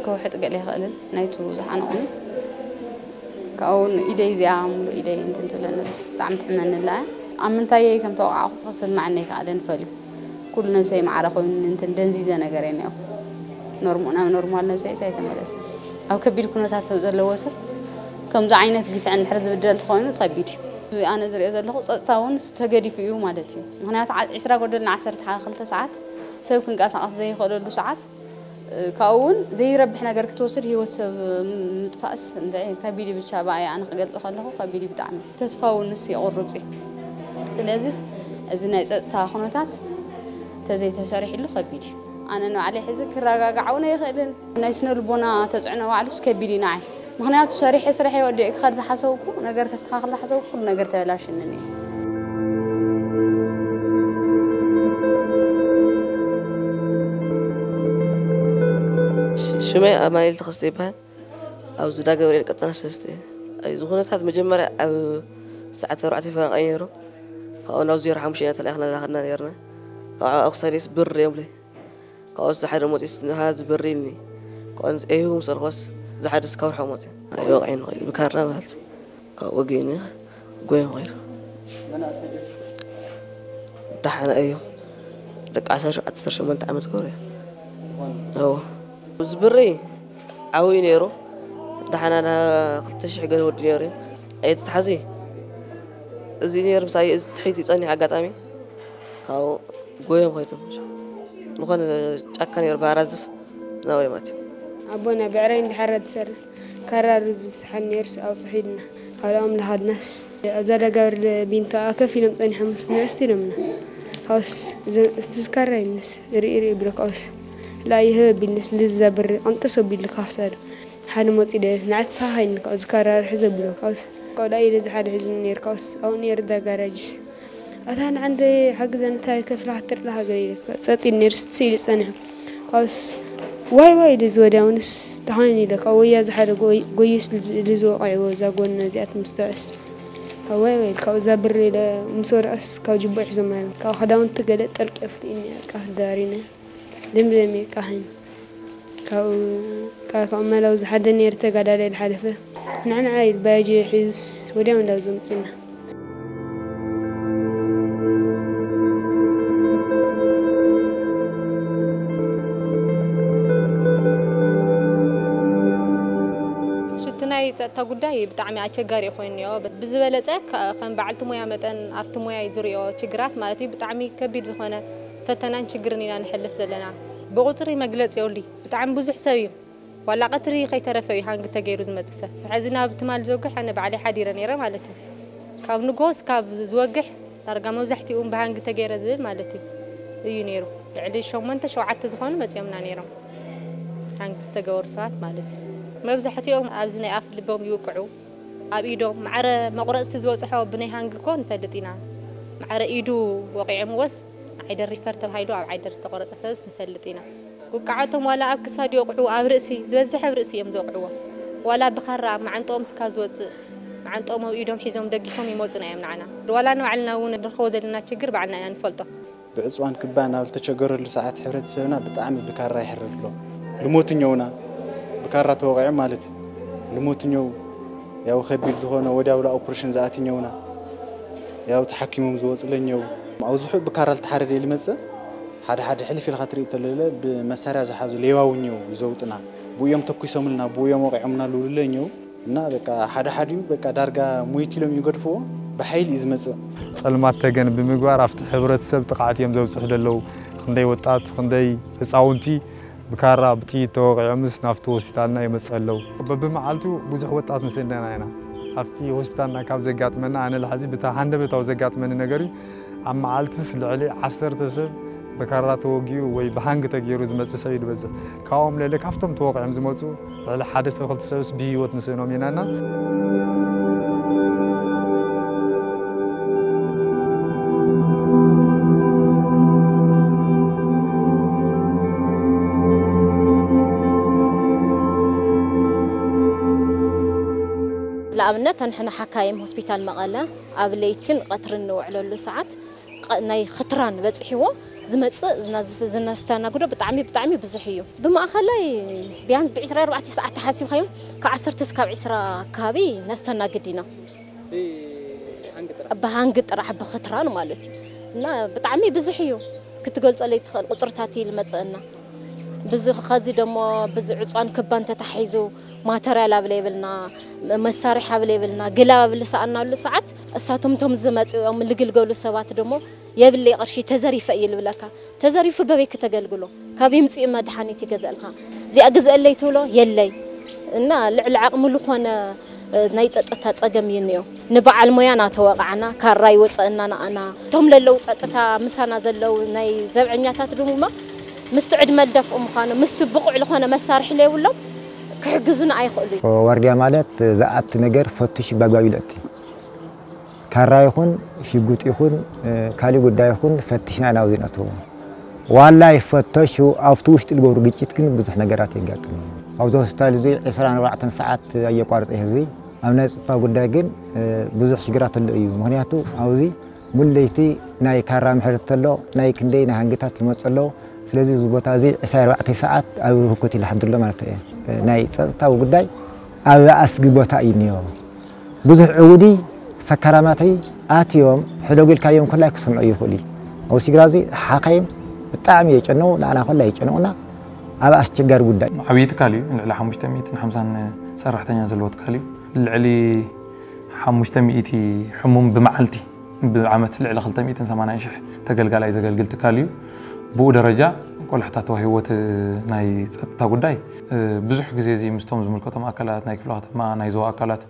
ክውሕጥ ገለ ኣይኽእልን፣ ናይቱ ዝሓነቑኒ። ካብኡ እውን ኢደይ እዚኣ ሙሉእ ኢደይ እንትን ትብለኒ፣ ብጣዕሚ ትሕመኒ ኣላ። ኣብ ምንታየይ ከም ተወቃዕኩ ክስምዓኒ ኣይከኣለን፣ ፈልዩ። ኩሉ ነብሰይ ማዕረ ኮይኑ እንትን ደንዚዘ ነገር እየ እኒአኹ። ኖርሞ-፣ ናብ ኖርማል ነብሰይስ ኣይተመለሰን። ኣብ ከቢድ ኩነታት ዘለወ ሰብ ከምዚ ዓይነት ግፍዒ እንድሕር ዝብደል ተኾይኑ ከቢድ እዩ። ኣነ ዝሪኦ ዘለኹ ጸጥታ እውን ተገዲፉ እዩ ማለት እዩ። ምኽንያቱ ዓ-፣ ዒስራ ጎደልና ዓሰርተ ክልተ ሰዓት ሰብ ክንቀሳቐስ ዘይኽእለሉ ሰዓት፣ እ፣ ካብኡ እውን ዘይረብሕ ነገር ክትወስድ ህይወት ሰብ ምጥፋእስ እንድዒ ከቢድ እዩ። ብቻ ብኣይ ኣነ ክገልጾ ከለኹ ከቢድ እዩ ብጣዕሚ። ተስፋ እውን ንስ የቑርጽ እዩ። ስለዚስ እዚ ናይ ጸጥታ ኩነታት ተዘይተሰሪሕሉ ከቢድ እዩ። ኣነ ንባዕለይ ሕዚ ክረጋጋዕ እውን ኣይኽእልን። ናይ ስነ ልቦና ተጽዕኖ ባዕሉስ ከቢድ እዩ ንዓይ። ምኽንያቱ ሰሪሐ ስርሐይ ወዲኤ ክኸድ ዝሓሰብኩ፣ ነገር ከስተኻኽል ዝሓሰብኩ፣ ኩሉ ነገር ተበላሽኒ እኒኦ። ሽ-፣ ሽመይ ኣማኑኤል ተኸስተ ይበሃል። ኣብ ዝዳ ገብርኤል ቀጠና ሰለስተ እዩ። እዚ ኩነታት መጀመርያ ኣብ ሰዓት ኣርባዕተ ይፈናቐል ነይሩ። ካብኡ ናብ ዜሮ ሓሙሽተ ኢና ተላኢኽና ዝኸድና ነይርና። ካብኡ ኣብ ክሳደይስ ብር እዮም ኢለይ። ካብኡስ ዝሓደ መፂኡስ ንሃ ዝበሪ ኢልኒ። ካብኡ ንፅኤሁ ምስ በልኩስ ዝሓደስ ካብ ርሑቕ መፂኡ። ኣይወቕዐን ይኽእል ብካራ ማለት እዩ። ካብኡ ወጊእኒ ጎዮም ኸይዱ። ደሓና እዮም። ደቂ ዓሰርተ ሸውዓተ ዓሰርተ ሸሞንተ ዓመት ክገብሩ እዮም። እዎ። እዚ ብሪ ዓብዩ ነይሩ። ደሓና ና ክልተ ሽሕ ገለ ወዲ ነይሩ እዩ። ኣይትትሓዚ። እዚ ነይሩ ምሳይ፣ እዚ ትሕቲ ጸኒሑ ኣጋጣሚ። ካብኡ ጎዮም ኸይዶም። ዝኾነ ጫካ ነይሩ፣ ባራዝፍ ናበይ ማትዮም። ኣቦና ብዕረይ እንድሕር ትሰርሕ፣ ካራሩ ዝስሓል ነይሩስ ኣውጽሑ ኢልና። ካልኦም ለሃድናስ፣ እዛ ደጋብር ቢንታ ከፍ ኢሎም ጸኒሖም ምስ ንዕስቲ ኢሎምና። ካውስ፣ እዘ-፣ እስቲ ዝካራ ይነስ፣ ርኢ ርኢ ብሎ ካውስ። ላ ይህበ ቢልነስ፣ ልዛ ብሪ፣ ቀንጠሶ ቢል ካውስ ኣለ። ሓደ ሞጺ ደ፣ ንዓት ሳሃ ይን ካውስ፣ ዝካራ ርሕ ዘብሎ ካውስ። ቆልዓ ኢለ ዝሓደ ሕዝኒ ነይር ካውስ፣ ኣው ነይር ዳ ጋራጅስ። ኣታ ንዓንተ ሓግዘን እንታይ ከፍላ ክትርላ ሃገር ኢለ ጸጥ ኢል ነይር ስት ኢሉ ጸኒሑ። ካብስ ዋይ ዋይ ኢሉ ዝወድያውንስ ተኾይኑ ኢለ ካብ ወያ ዝሓደ ጎይ-፣ ጎይስ ኢሉ ዝወቃዕዎ እዛ ጎን እዚኣት ምስተውዕስ። ካብ ዋይ ዋይ ኢሉ ካብ እዛ ብር ኢለ ምስ ወድኣስ ካብ ጅቦ ሒዞም ማለት ካብ ክዳውንቲ ገለ ጠልቂ ኣፍትኢኒ ኣቃፍ ዳሪነ። ደም ደም የቃሕን። ካብኡ፣ ካብ፣ ካብ መላው ዝሓደ ነይሩ ተጋዳላይ ዝሓለፈ። ንዕንዓ ኢሉ ባያጅ ሒዙስ ወዲያው እንዳዞም ጽና። ሽቲ ናይ ጸጥታ ጉዳይ ብጣዕሚ ኣቸጋሪ ኮይኑ እዮ። ብዝበለጸ ከ-፣ ከም በዓልቲ ሞያ መጠን ኣብቲ ሞያ ዝሪኦ ችግራት ማለት እዩ ብጣዕሚ ከቢድ ዝኾነ ፈተናን ችግርን ኢና ንሕልፍ ዘለና። ብቑጽሪ መግለጺ የብሉይ። ብጣዕሚ ብዙሕ ሰብ እዩ። ዋላ ቀትሪ ከይተረፈ እዩ ሃንግ ተገይሩ ዝመጽእ ሰብ። ሕዚ ናብ ትማል ዝወግሕ ኣነ ባዕለይ ሓዲረ ነይረ ማለት እዩ። ካብ ንግሆ እስካብ ዝወግሕ ዳርጋ መብዛሕትኡ ብሃንግ ተገይረ ዝብል ማለት እዩ፣ እዩ ነይሩ። ልዕሊ ሸሞንተ ሸውዓተ ዝኾኑ መጺኦምና ነይሮም። ሃንግ ዝተገበሩ ሰባት ማለት እዩ። መብዛሕትኦም ኣብዚ ናይ ኣፍ ልቦም ይውቅዑ። ኣብ ኢዶም ማዕረ መቑረጽቲ ዝበጽሖ ብናይ ሃንግ እኮ ንፈልጥ ኢና። ማዕረ ኢዱ ወቒዖምዎስ ዓይደር ሪፈር ተባሂሉ ኣብ ዓይደር ዝተቖረጸ ሰብስ ንፈልጥ ኢና። ውቃዓቶም ዋላ ኣብ ክሳድ ይወቕዑ፣ ኣብ ርእሲ፣ ዝበዝሕ ኣብ ርእሲ እዮም ዝወቕዕዎ። ዋላ ብኻራ ኣብ መዓንጥኦም እስካ ዝወጽእ፣ መዓንጥኦም ኣብ ኢዶም ሒዞም ደጊፎም ይመጹና እዮም ንዓና። ዋላ ንባዕልና እውን ንረኽቦ ዘለና ችግር ባዕልና ኢና ንፈልጦ። ብዕጽዋን ክባን ኣብ ዝተቸገረሉ ሰዓት ሕብረተሰብና ብጣዕሚ ብካራ ይሕረድ ኣሎ። ልሞትኛውና ብካራ ተወቒዖም ማለት እዩ። ልሞትኛው ያው ከቢድ ዝኾነ ወዲያው ኦፕሬሽን ዝኣትኛውና ያው ተሓኪሞም ዝወጽለኛው። ኣብዝሑ ብካራ ልተሓረደ ልመጽእ ሓደ ሓደ ሕልፍ ኢልካ ትርኢ ተለለ ብመሳርያ ዝሓዙ ሌባውን እዮም ይዘውጥና። ብኡ እዮም ተኩሶምልና፣ ብኡ እዮም ወቒዖምና ልብሉለ እኛው። እና በቃ ሓደ ሓዲኡ በቃ ዳርጋ ሞይት ኢሎም ይገድፍዎ፣ ብሓይሊ እዩ ዝመጽእ። ጸልማት ተገን ብምግባር ኣብቲ ሕብረተሰብ ጥቕዓት እዮም ዘብጽሑ ዘለዉ። ክንደይ ወጣት፣ ክንደይ ህጻውንቲ ብካራ ብጥይት ተወቒዖምስ ናብቲ ሆስፒታልና ይመጽእ ኣለዉ። በብመዓልቱ ብዙሕ ወጣት ንስእንና ኢና። ኣብቲ ሆስፒታልና ካብ ዘጋጥመና ኣነ ልሓዚ ብታ ሃንደበታዊ ዘጋጥመኒ ነገር እዩ። ኣብ መዓልትስ ልዕሊ ዓሰርተ ሰብ ብካራ ተወጊኡ ወይ ብሃንግ ተገይሩ ዝመጽእ ሰብ እዩ ዝበዝሕ። ካብኦም ልዕሊ ካብቶም ተወቒዖም ዝመጹ ልዕሊ ሓደ ሰብ ክልተ ሰብስ ብህይወት ንስእኖም ኢና እና ንኣብነት፣ ንሕና ሓካይም ሆስፒታል መቐለ ኣብ ለይትን ቀትርን ንውዕለሉ ሰዓት፣ ቐ-፣ ናይ ኽትራን በፂሕዎ ዝመፅእ ዝና-፣ ዝነስተናግዶ ብጣዕሚ፣ ብጣዕሚ ብዙሕ እዩ። ብማእኸላይ ቢያንስ ብዒስራ ኣርባዕተ ሰዓት ተሓሲብካዮም፣ ካብ ዓሰርተ እስካብ ዒስራ ኣካባቢ ነስተናግድ ኢና። ብሃንግ ጥራሕ፣ ብኽትራን ማለት እዩ። እና ብጣዕሚ ብዙሕ እዩ፣ ክትገልፀለይ ትኽእል ቁፅርታት እዩ ዝመፅእና። ብዙ ኸዚ ደሞ ብዙ ዕፅዋን ክባን ተታሒዙ ማተርያል ኣብ ለይብልና፣ መሳርሒ ኣብ ለይብልና፣ ግላብ ኣብ ልሰኣናሉ ሰዓት እሳቶም ቶም ዝመፅኦም ልግልገሉ ሰባት ደሞ የብለይ ቅርሺ ተዘሪፈ እዩ ልብለካ። ተዘሪፉ በበይ ክተገልግሎ? ካብ ይምፅኡ መድሓኒት ይገዘእልካ። እዚኣ ግዘአለይ ትብሎ የለይ። እና ልዕሊ ዓቕሚ ልኾነ ናይ ጸጥታ ጸገም እዩ እኒኦ። ንበዓል ሞያ ናተወቓዕና፣ ካራ ይወጸእና ንኣና። እቶም ለለዉ ጸጥታ ምሳና ዘለዉ ናይ ዘብዐኛታት ድማ ምስቲ ዕድመ ልደፍኡ ምዃኑ፣ ምስቲ ብቑዕ ልኾነ መሳርሒ ለየብሎም ክሕግዙና ኣይኽእሉ። ዋርድያ ማለት ዝኣቲ ነገር ፈትሹ ባግባብ ይለእቲ። ካራ ይኹን ሽጉጥ ይኹን ካሊእ ጉዳይ ይኹን ፈትሽና ኢና ኣብዚ ነእትዎ። ዋላ ይፈተሹ ኣብቲ ውሽጢ ልገብሩ ግጭት ግን ብዙሕ ነገራት የጋጥም እዩ። ኣብዚ ሆስፒታል እዚ ዕስራን ኣርባዕተን ሰዓት ኣየቋርጸ ህዝቢ ኣብ ናይ ጸጥታ ጉዳይ ግን ብዙሕ ሽግራት ኣሎ እዩ። ምኽንያቱ ኣብዚ ሙሉ ለይቲ ናይ ካራ ምሕረት ተሎ ናይ ክንደይ ናይ ሃንግታት ዝመጸ ኣሎ። ስለዚ እዚ ቦታ እዚ ዕስራን ኣርባዕተን ሰዓት ኣብ ህኮት ይልሓድር ኣሎ ማለት እየ። ናይ ጸጥታዊ ጉዳይ ኣብ ኣስጊ ቦታ እዩ እኒኦ። ብዙሕ ዕውዲ ሰካራማተይ ኣትዮም ሕደጉ ኢልካዮም ኮላይ ክሰምዑ ይኽእሉ እዩ። ኣብዚ ሽግራ እዚ ሓኻይም ብጣዕሚ የጨነቑ፣ ንዓና ኮላይ የጨነቑና ኣብ ኣስቸጋሪ ጉዳይ። ዓብዪ ትካል እዩ። ልዕሊ ሓሙሽተ ሚእትን ሓምሳን ሰራሕተኛ ዘለዎ ትካል እዩ። ልዕሊ ሓሙሽተ ሚእቲ ሕሙም ብመዓልቲ ብዓመት ልዕሊ ክልተ ሚእትን ሰማንያን ሽሕ ተገልጋላይ ዘገልግል ትካል እዩ። ብኡ ደረጃ ቆላሕታ ተዋሂቦ እቲ ናይ ጸጥታ ጉዳይ ብዙሕ ግዜ እዚ ምስቶም ዝምልከቶም ኣካላት ናይ ክፍለ ከተማ ናይ ዞባ ኣካላት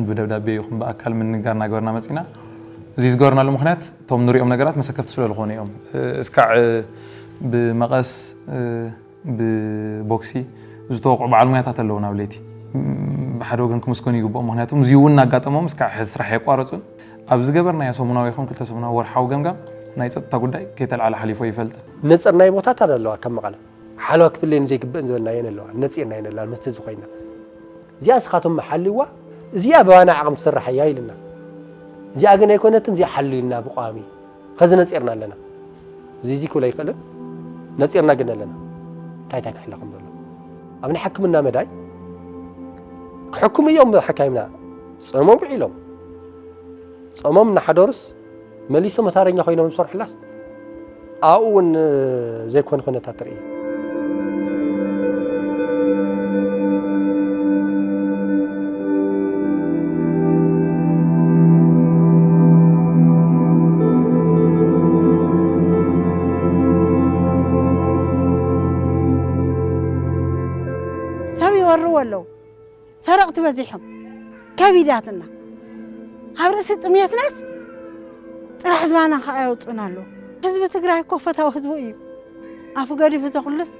ብደብዳቤ ይኹን ብኣካል ምንጋር እናገበርና መፂና። እዚ ዝገበርናሉ ምኽንያት እቶም ንሪኦም ነገራት መሰከፍቲ ስለ ዝኾኑ እዮም። እስካዕ ብመቐስ፣ ብቦክሲ ዝተወቕዑ በዓል ሙያታት ኣለዉ ናብ ለይቲ። ብሓደ ወገን ክምስገኑ ይግብኦም፣ ምኽንያቱ እዚ እውን እናጋጠሞም እስካዕ ሕዚ ስራሕ የቋረፁን። ኣብ ዝገበርናዮ ሰሙናዊ ይኹን ክልተ ሰሙናዊ ወርሓዊ ገምጋም ናይ ፀጥታ ጉዳይ ከይተልዓለ ሓሊፎ ይፈልጥ። ነፅርናይ ቦታታት ኣለዋ ከም መቐለ ሓለዋ ክፍለየን ዘይግብእን ዝበልናየን ኣለዋ። ነፂርናየን ኣለዋ ምስቲ እዚ ኮይና እዚኣ እስኻቶም ሓልዋ፣ እዚኣ ብዋና ዓቕም ትስራሕ እያ ኢልና። እዚኣ ግን ኣይኮነትን፣ እዚኣ ሓልዩልና ብቋሚ ኸዚ ነፂርና ኣለና። እዚ እዚ ክብል ኣይክእልን። ነፂርና ግን ኣለና። እንታይ እንታይ ክሕለ ከም ዘሎ ኣብ ናይ ሕክምና መዳይ ክሕክሙ እዮም። ሓካይምና ጾሞም ውዒሎም ጾሞም እናሓደሩስ መሊሶም መታረኛ ኮይኖም ዝሰርሑላስ ኣብኡ እውን ዘይኮነ ኩነታት ትርኢ። ሰብ ይወርዎ ኣለዉ። ሰረቕቲ በዚሖም ከቢዳትና። ኣብ ርእሲ ጥሜትናስ ጥራሕ ዝባና ከኣ የውፅኡና ኣለዉ። ህዝቢ ትግራይ እኮ ፈታዊ ህዝቢ እዩ። ኣፉ ገዲፉ ዘኹሉስ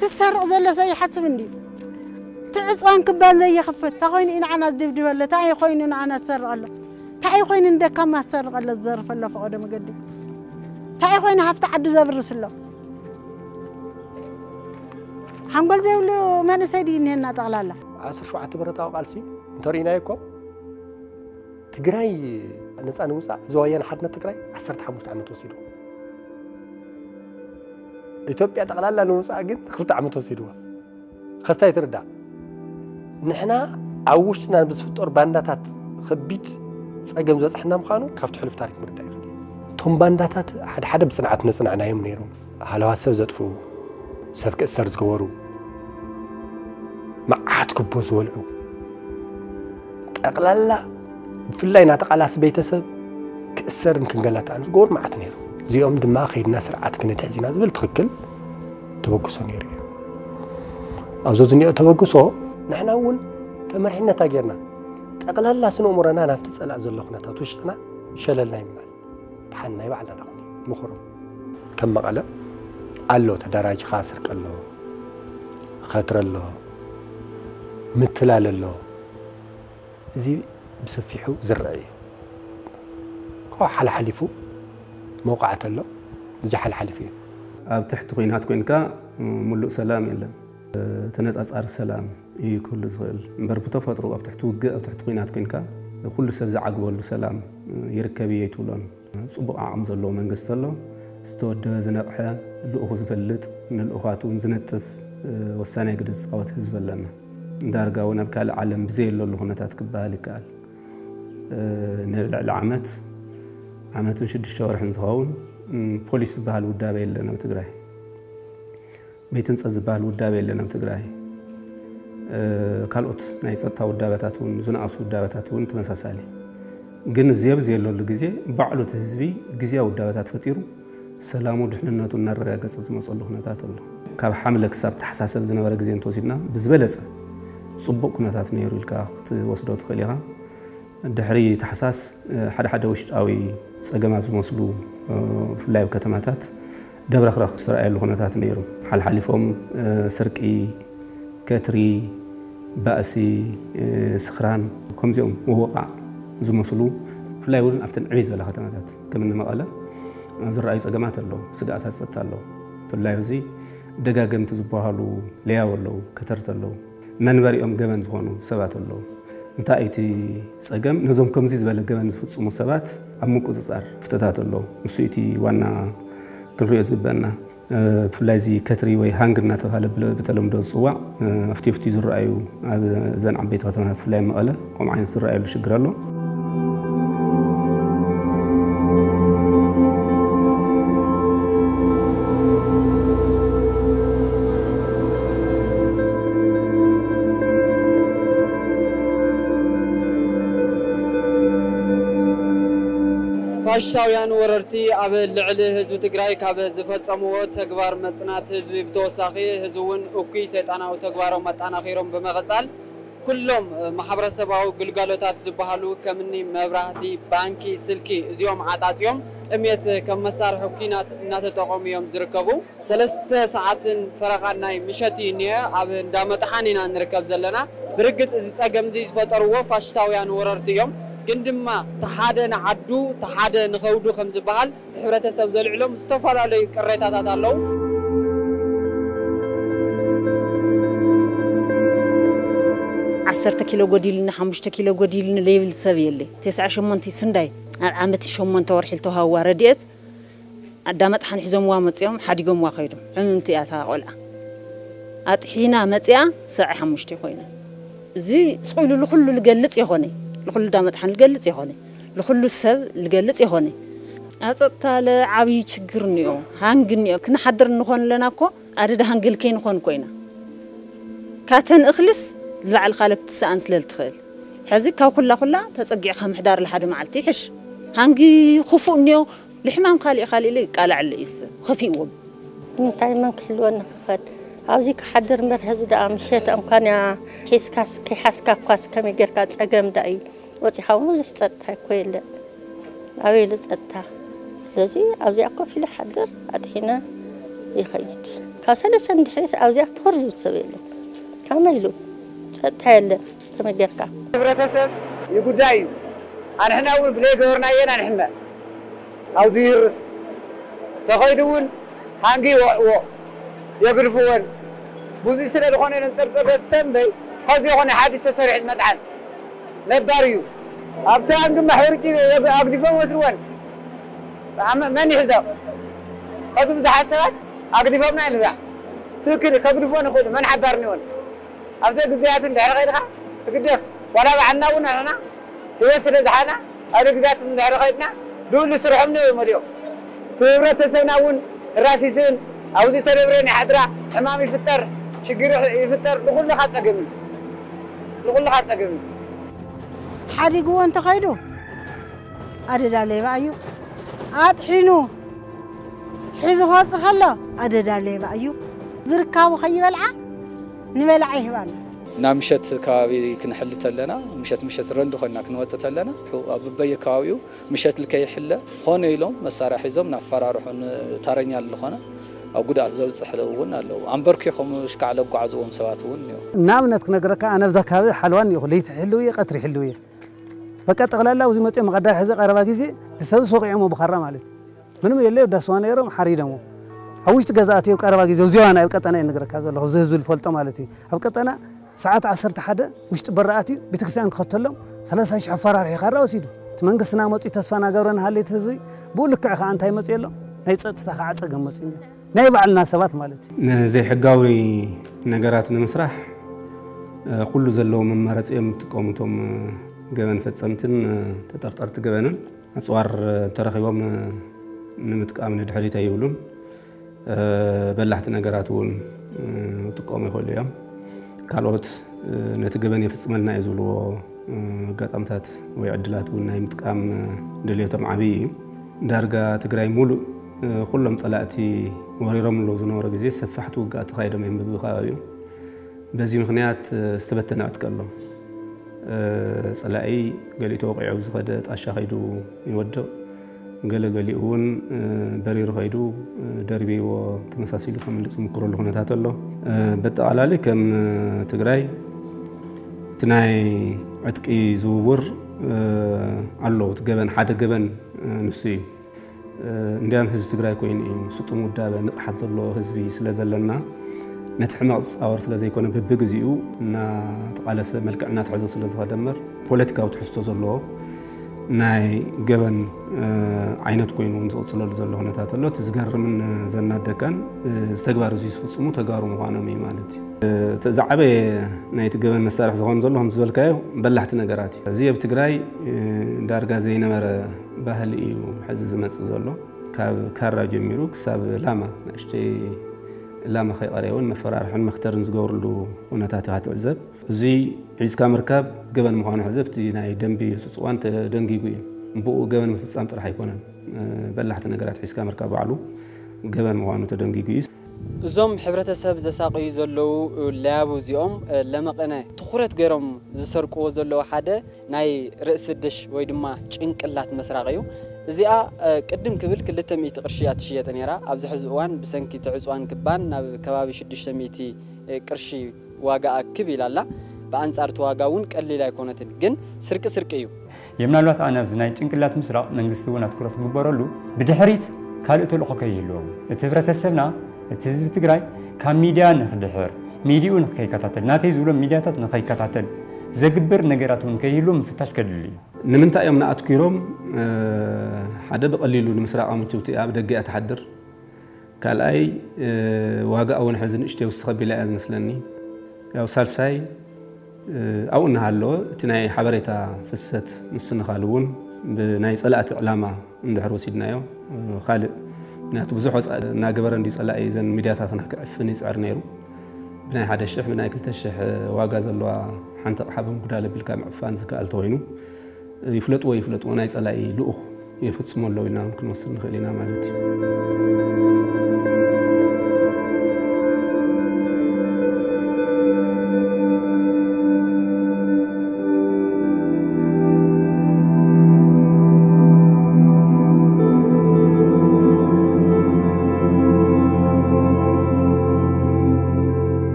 ትሰርቕ ዘሎ ሰብ ይሓስብ እንዲ ትዕፅዋን ክባን ዘይኽፍት እንታይ ኮይኑ እዩ ንዓና ዝድብድበለ? እንታይ ኮይኑ ንዓና ዝሰርቐሎ? እንታይ ኮይኑ ንደካማ ዝሰርቐለ ዝዘርፈሎ ፈቐዶ መገዲ? እንታይ ኮይኑ ሃፍቲ ዓዱ ዘብርስ ኣሎ? ሓንጎል ዘይብሉ መንእሰይ ድዩ እኒሀና ጠቕላላ? ዓሰርተ ሸውዓተ ብረታዊ ቃልሲ እንተርኢናዮ እኮ ትግራይ ነፃ ንምውፃእ እዚ ወያነ ሓድነት ትግራይ ዓሰርተ ሓሙሽተ ዓመት ወሲዱ። ኢትዮጵያ ጠቕላላ ንምውፃእ ግን ክልተ ዓመት ወሲድዋ። ከስታይ ትርዳእ ንሕና ኣብ ውሽጥና ብዝፍጠሩ ባንዳታት ከቢድ ፀገም ዝበፅሐና ምዃኑ ካብቲ ሕሉፍ ታሪክ ምርዳእ ይኽእል እዩ። እቶም ባንዳታት ሓደ ሓደ ብፅንዓት ነፅናዕናዮም ነይሮም። ሃለዋት ሰብ ዘጥፍኡ፣ ሰብ ክእሰር ዝገበሩ፣ መዓት ክቦ ዝበልዑ፣ ጠቕላላ ብፍላይ ናተቓላሲ ቤተሰብ ክእሰርን ክንገላታዕን ዝገበሩ መዓት ነይሩ። እዚኦም ድማ ከይድና ስርዓት ክንድሕዝ ኢና ዝብል ትኽክል ተበግሶ ነይሩ እዩ። ኣብዞ ዝኒኦ ተበግሶ ንሕና እውን ተመርሒነታ ጌርና ጠቕላላ ስነ እምሮና ናብቲ ፀላእ ዘሎ ኩነታት ውሽጥና ሸለልና ይምባል። ድሓን ናይ ባዕልና ዳኹን ምኽሩ ከም መቐለ ኣሎ ተደራጅኻ ስርቂ ኣሎ፣ ኸትረ ኣሎ፣ ምትላል ኣሎ። እዚ ብሰፊሑ ዝረአ እዩ። ካብኡ ሓለሓሊፉ መውቃዕቲ ኣሎ። እዚ ሓለሓሊፉ እዩ። ኣብ ትሕቲ ኲናት ኮይንካ ምሉእ ሰላም የለን። ተነጻጻሪ ሰላም እዩ ክህሉ ዝኽእል እምበር ብተፈጥሮ ኣብ ትሕቲ ውግእ ኣብ ትሕቲ ኲናት ኮይንካ ኩሉ ሰብ ዝዓግበሉ ሰላም ይርከብ እዩ ኣይትብሎን። ጽቡቕ ዓቕሚ ዘለዎ መንግስቲ ኣሎ። ዝተወደበ ዝነቕሐ ልኡኹ ዝፈልጥ ንልኡኻቱ እውን ዝነጥፍ ወሳናይ ግደ ዝጻወት ህዝቢ ኣለና። ዳርጋ እውን ኣብ ካልእ ዓለም ብዘየለሉ ኩነታት ክበሃል ይከኣል። ንልዕሊ ዓመት ዓመትን ሽዱሽተ ወርሕን ዝኸውን ፖሊስ ዝበሃል ውዳበ የለን ኣብ ትግራይ። ቤት ህንፀት ዝበሃል ውዳበ የለን ኣብ ትግራይ። ካልኦት ናይ ፀጥታ ውዳበታት እውን ዝነኣሱ ውዳበታት እውን ተመሳሳሊ። ግን እዚ ኣብዚ የለሉ ግዜ ባዕሉ እቲ ህዝቢ ግዜያዊ ውዳበታት ፈጢሩ ሰላሙ ድሕንነቱ እናረጋገፀ ዝመፀሉ ኩነታት ኣሎ። ካብ ሓምለ ክሳብ ተሓሳሰብ ዝነበረ ግዜ እንተወሲድና ብዝበለፀ ፅቡቕ ኩነታት ነይሩ ኢልካ ክትወስዶ ትኽእል ኢኻ። ድሕሪ ታሕሳስ ሓደ ሓደ ውሽጣዊ ፀገማት ዝመስሉ ብፍላይ ኣብ ከተማታት ደብረኽረኽ ዝተረኣየሉ ኩነታት ነይሩ። ሓልሓሊፎም ስርቂ፣ ከትሪ፣ ባእሲ፣ ስኽራን ከምዚኦም ምውቓዕ ዝመስሉ ብፍላይ እውን ኣብተን ዕብይ ዝበላ ከተማታት ከም እኒ መቐለ ዝረኣዩ ፀገማት ኣለዉ። ስግኣታት ፀጥታ ኣለዉ። ብፍላይ እዚ ደጋገምቲ ዝበሃሉ ሌያው ኣለዉ፣ ከተርቲ ኣለዉ። መንበሪኦም ገበን ዝኾኑ ሰባት ኣለዉ። እንታይ እቲ ጸገም? ነዞም ከምዚ ዝበለ ገበን ዝፍጽሙ ሰባት ኣብ ምቁጽጻር ፍተታት ኣለዉ። ንሱ እቲ ዋና ክንሪኦ ዝግበአና። ብፍላይ እዚ ከትሪ ወይ ሃንግ እናተባህለ ብተለምዶ ዝጽዋዕ ኣብቲ ኣብቲ ዝረኣዩ ኣብ እዘን ዓበይቲ ከተማታት ብፍላይ መቐለ ከምኡ ዓይነት ዝረኣየሉ ሽግር ኣሎ። ፋሽስታውያን ወረርቲ ኣብ ልዕሊ ህዝቢ ትግራይ ካብ ዝፈፀምዎ ተግባር መፅናት ህዝቢ ብተወሳኺ ህዝቢ እውን እኩይ ሰይጣናዊ ተግባሮም ኣጠናኺሮም ብምቕፃል ኩሎም ማሕበረሰባዊ ግልጋሎታት ዝበሃሉ ከምኒ መብራህቲ፣ ባንኪ፣ ስልኪ እዚኦም ዓፃፂዮም ጥሜት ከም መሳርሒ ኲናት እናተጠቐሙ እዮም ዝርከቡ። ሰለስተ ሰዓትን ፈረቓን ናይ ምሸት እዩ እኒሀ። ኣብ እንዳ መጥሓን ኢና ንርከብ ዘለና። ብርግፅ እዚ ፀገም እዚ ዝፈጠርዎ ፋሽስታውያን ወረርቲ እዮም። ግን ድማ ተሓደ ንዓዱ ተሓደ ንኸውዱ ከም ዝበሃል እቲ ሕብረተሰብ ዘልዕሎም ዝተፈላለዩ ቅሬታታት ኣለዉ። ዓሰርተ ኪሎ ጎዲልኒ፣ ሓሙሽተ ኪሎ ጎዲልኒ ዘይብል ሰብ የለ። ተስዓ ሸሞንተ ስንዳይ ኣብ ዓመት ሸሞንተ ወርሒ ዝተዋሃብዋ ረድኤት ኣዳመጥሓን ሒዞምዋ መፅኦም ሓዲጎምዋ ከይዶም። ዕምምቲ እያ እታ ቆልዓ። ኣጥሒና መፅኣ ሰብዓ ሓሙሽተ ኮይና። እዚ ስቕ ኢሉ ልኹሉ ልገልፅ የኾነ፣ ልኹሉ ዳመጥሓን ልገልፅ የኾነ፣ ልኹሉ ሰብ ልገልፅ የኾነ። ኣብ ፀጥታ ለዓብዪ ችግር እኒኦ፣ ሃንግ እኒኦ። ክንሓድር እንኾን ኣለና እኮ ኣደዳ ሃንግል ከይንኾን ኮይና። ካተን እኽልስ ዝባዕልኻ ለክትሰኣን ስለ ልትኽእል። ሕዚ ካብ ኩላ ኩላ ተፀጊዕኻ ምሕዳር ለሓደ መዓልቲ ይሕሽ። ሃንጊ ክፉእ እኒኦ፣ ልሕማም ካሊእ ካሊእ ኢለ ይቃላዕ ኣሎ ኢልሰ ኸፊእዎም። እንታይ መን ክሕልወኒ ክኸድ? ኣብዚ ክሓድር እምበር ሕዚ ደኣ ምሸት እንኳን እያ ሒዝካስ ከይሓዝካ እኳስ ከመይ ጌርካ ጸገም ደኣ እዩ። ወጺኻ እውን ብዙሕ ጸጥታ እኮ የለን። ኣበይ ኢሉ ጸጥታ? ስለዚ ኣብዚኣ ኮፍ ኢለ ሓድር ኣጥሒነ ይኸይድ። ካብ ሰለስተ ንድሕሪት ኣብዚኣ ትኹር ዝብል ሰብ የለን። ከመይ ኢሉ ጸጥታ የለን። ከመይ ጌርካ? ሕብረተሰብ ይጉዳይ እዩ። ኣንሕና እውን ብለይ ገበርናየን ኣንሕመ ኣብዙ ይርስ ተኸይዱ እውን ሃንጊ ይወዕዎ የግድፍወን ብዙ ስለ ዝኾነ ነንፀርፀር ሰንበይ ኸዚ ይኾነ ሓዲስ ተሰሪሑ ዝመጥዓን ነባር እዩ። ኣብቲ ሃንጊ ማሕበርቂ ኣግዲፎም ወስድወን መን ይሕዘቕ? ኸዚ ብዙሓት ሰባት ኣግዲፎምና ይንዛዕ ትክክል ከግድፎን ይኽእሉ መን ሓባር ንወን ኣብዘ ግዜያት እንድሕር ኸይድኻ ትግደፍ ዋላ ባዕልና እውን ንሕና ህይወት ስለ ዝሓና ኣብ ግዜያት እንድሕር ኸይድና ድውሉ ስርሖም ንዮ ይመልዮም እቲ ህብረተሰብና እውን ራሲስን ኣብዚ ተደብረን ይሓድራ ሕማም ይፍጠር ሽግር ይፍጠር ንኹልኻ ፀገም እዩ ንኹልኻ ፀገም እዩ ሓዲግዎ እንተኸይዱ ኣደዳ ሌባ እዩ ኣጥሒኑ ሒዙ ክወፅእ ከሎ ኣደዳ ሌባ እዩ ዝርካቡ ከይበልዓ ንበላዓ ይህባሉ ናብ ምሸት ከባቢ ክንሕሊ ተለና ምሸት ምሸት ረንዲ ኮይና ክንወፅእ ተለና ኣብ በየ ከባቢኡ ምሸት ልከይሕለ ኾነ ኢሎም መሳርያ ሒዞም ናፈራርሑ ንታረኛ ዝኾነ ኣብ ጉድኣት ዘብፅሕ እውን ኣለዉ ኣንበርኪ ከምኡ ሽካዕ ለጓዓዝዎም ሰባት እውን እኒኦ ንኣብነት ክነግረካ ኣነ ብዛ ከባቢ ሓልዋ እኒኹ ለይቲ ሕልው እየ ቀትሪ ሕልው እየ በቃ ጠቕላላ ኣብዚ መፅኦም መቐዳሒ ሕዚ ቀረባ ግዜ ንሰብ ሰቂዖሞ ብኻራ ማለት እዩ ምንም የለ ዳስዋ ነይሮም ሓሪዶሞ ኣብ ውሽጢ ገዛ ኣትዮም ቀረባ ግዜ ኣብዚዋ ናይ ኣብ ቀጠና እየ ንግረካ ዘለኹ እዚ ህዝቢ ዝፈልጦ ማለት እዩ ኣብ ቀጠና ሰዓት ዓሰርተ ሓደ ውሽጢ በሪ ኣትዩ ቤተክርስትያን ክኸተሎም ሰላሳ ሽሕ ኣፈራርሒ ካራ ወሲዱ እቲ መንግስትና መፅኡ ተስፋ ናገብረ ንሃለይቲ ህዝቢ ብኡ ልክዕ ከዓ እንታይ መፅኡ ኣሎ ናይ ፀጥታ ከዓ ፀገም መፅኡ እኒኦ ናይ ባዕልና ሰባት ማለት እዩ ንዘይሕጋዊ ነገራት ንምስራሕ ኩሉ ዘለዎም መማረፂ እዮም ዝጥቀሙ እቶም ገበን ፈፀምትን ተጠርጠርቲ ገበንን ኣፅዋር ተረኺቦም ንምጥቃም ንድሕሪት ኣይብሉን በላሕቲ ነገራት እውን ክጥቀሙ ይኽእሉ እዮም ካልኦት ነቲ ገበን የፍፅመልና እዩ ዝብልዎ ኣጋጣምታት ወይ ዕድላት እውን ናይ ምጥቃም ድልየቶም ዓብዪ እዩ ዳርጋ ትግራይ ሙሉእ ኩሎም ፀላእቲ ወሪሮም ኣለዉ ዝነበረ ግዜ ሰፋሕቲ ውግኣት ተኻይዶም እዮም ብብኸባቢኡ በዚ ምኽንያት ዝተበተነ ዕጥቂ ኣሎ። ጸላኢ ገሊኡ ተወቒዑ ኣብ ዝኸደ ጣሻ ከይዱ ይወድቕ። ገለ ገሊኡ እውን በሪሩ ከይዱ ደርብይዎ ተመሳሲሉ ከምልጥ ዝምክረሉ ኩነታት ኣሎ። በጠቓላሊ ከም ትግራይ እቲ ናይ ዕጥቂ ዝውውር ኣሎ። እቲ ገበን ሓደ ገበን ንሱ እዩ። እንዲያም ህዝቢ ትግራይ ኮይኑ እዩ ስጡም ውዳበ ንቕሓት ዘለዎ ህዝቢ ስለ ዘለና ነቲ ሕመቕ ዝፃወር ስለ ዘይኮነ በብግዚኡ እናተቓለሰ መልክዕ እናትሕዞ ስለ ዝኸደ እምበር ፖለቲካዊ ትሕዝቶ ዘለዎ ናይ ገበን ዓይነት ኮይኑ እውን ዝቕፅለሉ ዘሎ ኩነታት ኣሎ። እቲ ዝገርምን ዘናደካን እዚ ተግባር እዚ ዝፍፅሙ ተጋሩ ምዃኖም እዩ ማለት እዩ። እቲ ዝዓበየ ናይቲ ገበን መሳርሒ ዝኾን ዘሎ ከም ዝበልካዮ በላሕቲ ነገራት እዩ። እዚ ኣብ ትግራይ ዳርጋ ዘይነበረ ባህሊ እዩ ሕዚ ዝመፅእ ዘሎ። ካብ ካራ ጀሚሩ ክሳብ ላማ ንእሽተይ ላማ ከይቐረየ እውን መፈራርሕን መክተርን ዝገብርሉ ኩነታት ኢኻ ትዕዘብ። እዚ ሒዝካ ምርካብ ገበን ምዃኑ ሕዚ ኣብቲ ናይ ደንቢ ህፁፅ እዋን ተደንጊጉ እዩ። ብኡ ገበን ምፍፃም ጥራሕ ኣይኮነን። በላሕቲ ነገራት ሒዝካ ምርካብ ባዕሉ ገበን ምዃኑ ተደንጊጉ እዩ። እዞም ሕብረተሰብ ዘሳቀዩ ዘለዉ ለያቡ እዚኦም ለመቀነ ትኹረት ገይሮም ዝሰርቅዎ ዘለዉ ሓደ ናይ ርእሲ ድሽ ወይ ድማ ጭንቅላት መስራቅ እዩ። እዚኣ ቅድም ክብል ክልተ ሚእቲ ቅርሺ እያ ትሽየጥ ነይራ። ኣብዚ ሕዚ እዋን ብሰንኪ እቲ ዕፅዋን ክባን ናብ ከባቢ ሽዱሽተ ሚእቲ ቅርሺ ዋጋኣ ክብ ኢላ ኣላ። ብኣንጻር እቲ ዋጋ እውን ቀሊል ኣይኮነትን፣ ግን ስርቂ ስርቂ እዩ። የምናልባት ኣነ ኣብዚ ናይ ጭንቅላት ምስራቕ መንግስቲ እውን ኣትኩረት ክግበረሉ፣ ብድሕሪት ካልእ ተልእኾ ከይህልዎም፣ እቲ ህብረተሰብና፣ እቲ ህዝቢ ትግራይ ካብ ሚድያ ንክድሕር፣ ሚድያኡ ንከይከታተል፣ ናተይ ዝብሎም ሚድያታት ንከይከታተል ዘግብር ነገራት እውን ከይህልዎም ምፍታሽ ከድሊ እዩ። ንምንታይ እዮም ንኣትኪሮም ሓደ ብቐሊሉ ንምስራቕ ኣምችውቲ ኣብ ደገ እያ ትሓድር። ካልኣይ ዋጋ እውን ሕዚ ንእሽተይ ውስኽ ኣቢላ እያ ዝመስለኒ። ያው ሳልሳይ ኣብኡ እናሃለወ እቲ ናይ ሓበሬታ ፍሰት ምስንኻል እውን ብናይ ፀላእቲ ዕላማ እንድሕር ወሲድናዮ ካልእ፣ ምክንያቱ ብዙሕ ወፃኢ እናገበረ እንዲ ፀላኢ እዘን ሚድያታትና ክዕፍን ይፅዕር ነይሩ። ብናይ ሓደ ሽሕ ብናይ ክልተ ሽሕ ዋጋ ዘለዋ ሓንቲ ኣቕሓ ብምጉዳል ኣቢልካ ምዕፋን ዝከኣል ተኮይኑ ይፍለጥዎ ይፍለጥዎ ናይ ጸላኢ ልኡኽ የፍጽሞ ኣለዉ ኢልና እውን ክንወስድ ንኽእል ኢና ማለት እዩ።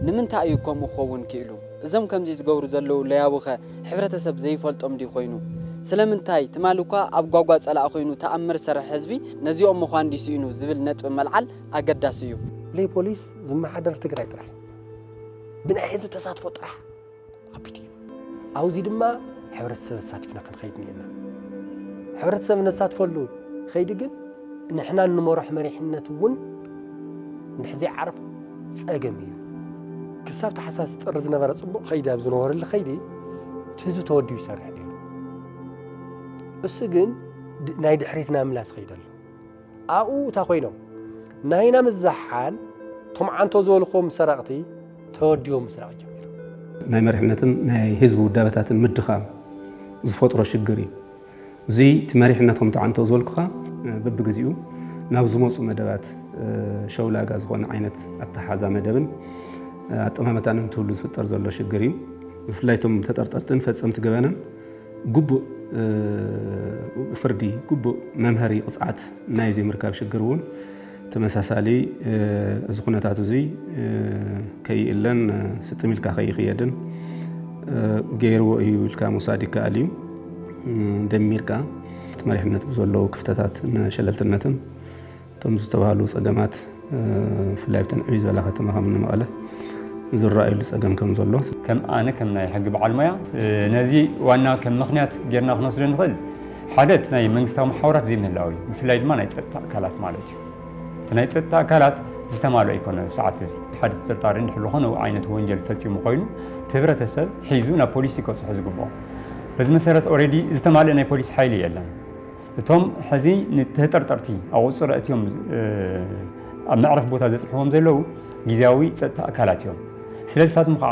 ንምንታይ እዩ ከምኡ ክኸውን ክኢሉ? እዞም ከምዚ ዝገብሩ ዘለዉ ለያቡኸ ሕብረተሰብ ዘይፈልጦም ድዩ ኮይኑ? ስለምንታይ ትማሊ እኳ ኣብ ጓጓ ጸላእ ኮይኑ ተኣምር ዝሰርሕ ህዝቢ ነዚኦም ምዃን ድዩ ስኢኑ ዝብል ነጥቢ መልዓል ኣገዳሲ እዩ። ብለይ ፖሊስ ዝመሓደር ትግራይ ጥራሕ እዩ። ብናይ ህዝቢ ተሳትፎ ጥራሕ ከቢድ እዩ። ኣብዚ ድማ ሕብረተሰብ ኣሳቲፍና ክንኸይድ እኒአና። ሕብረተሰብ ነሳትፈሉ ኸይዲ ግን ንሕና እንመርሖ መሪሕነት እውን እንድሕር ዘይዓረፎ ጸገም እዩ። ክሳብ ታሕሳስ ጥሪ ዝነበረ ጽቡቕ ኸይዲ ኣብ ዝነበረሉ ኸይዲ እቲ ህዝቢ ተወዲቡ ይሰርሕ ነይሩ። እሱ ግን ድ-፣ ናይ ድሕሪትና ምላስ ኸይደሉ ኣብኡ እታ ኮይኖም ናይና ምዝሓል ቶም ዓንቶ ዝበልኹዎም ሰረቕቲ ተወዲቦም ምስራቕ ጀሚሮም። ናይ መሪሕነትን ናይ ህዝቢ ውዳበታትን ምድኻም ዝፈጥሮ ሽግር እዩ። እዚ እቲ መሪሕነት ከምቲ ዓንቶ ዝበልኩኻ በብግዜኡ ናብ ዝመፁ መደባት ሸውላጋ ዝኾነ ዓይነት ኣተሓዛ መደብን ኣጠማመታን እንትህሉ ዝፍጠር ዘሎ ሽግር እዩ። ብፍላይ እቶም ተጠርጠርትን ፈፀምቲ ገበንን ግቡእ ፍርዲ፣ ግቡእ መምሀሪ ቅፅዓት ናይ ዘይምርካብ ሽግር እውን ተመሳሳሊ እዚ ኩነታት እዚ ከይእለን ስጥም ኢልካ ከይኽየድን ገይርዎ እዩ ኢልካ ምውሳድ ይከኣል እዩ። ደሚርካ እቲ መሪሕነት ብዘለዉ ክፍተታት ሸለልትነትን እቶም ዝተባህሉ ጸገማት ብፍላይ ኣብተን ዕብይ ዝበላ ከተማ ከም እኒ መቐለ ዝረኣየሉ ጸገም ከም ዘሎ ከም ኣነ ከም ናይ ሕጊ በዓል ሞያ ነዚ ዋና ከም ምኽንያት ጌርና ክንወስዶ ንኽእል ሓደ እቲ ናይ መንግስታዊ መሓውራት ዘይምህላው እዩ። ብፍላይ ድማ ናይ ጸጥታ ኣካላት ማለት እዩ። እቲ ናይ ጸጥታ ኣካላት ዝተማልኦ ኣይኮነን። ኣብ ሰዓት እዚ ሓደ ተጠርጣሪ እንድሕር ዝኾነ ዓይነት ወንጀል ፈጺሙ ኮይኑ እቲ ህብረተሰብ ሒዙ ናብ ፖሊስ እዩ ከብጽሖ ዝግብኦ። በዚ መሰረት ኦሬዲ ዝተማልአ ናይ ፖሊስ ሓይሊ የለን። እቶም ሕዚ ንተጠርጠርቲ ኣብ ቁጽሪ ኣእትዮም ኣብ መዕረፍ ቦታ ዘጽንሕዎም ዘለዉ ግዝያዊ ጸጥታ ኣካላት እዮም። ስለዚ ንሳቶም ከዓ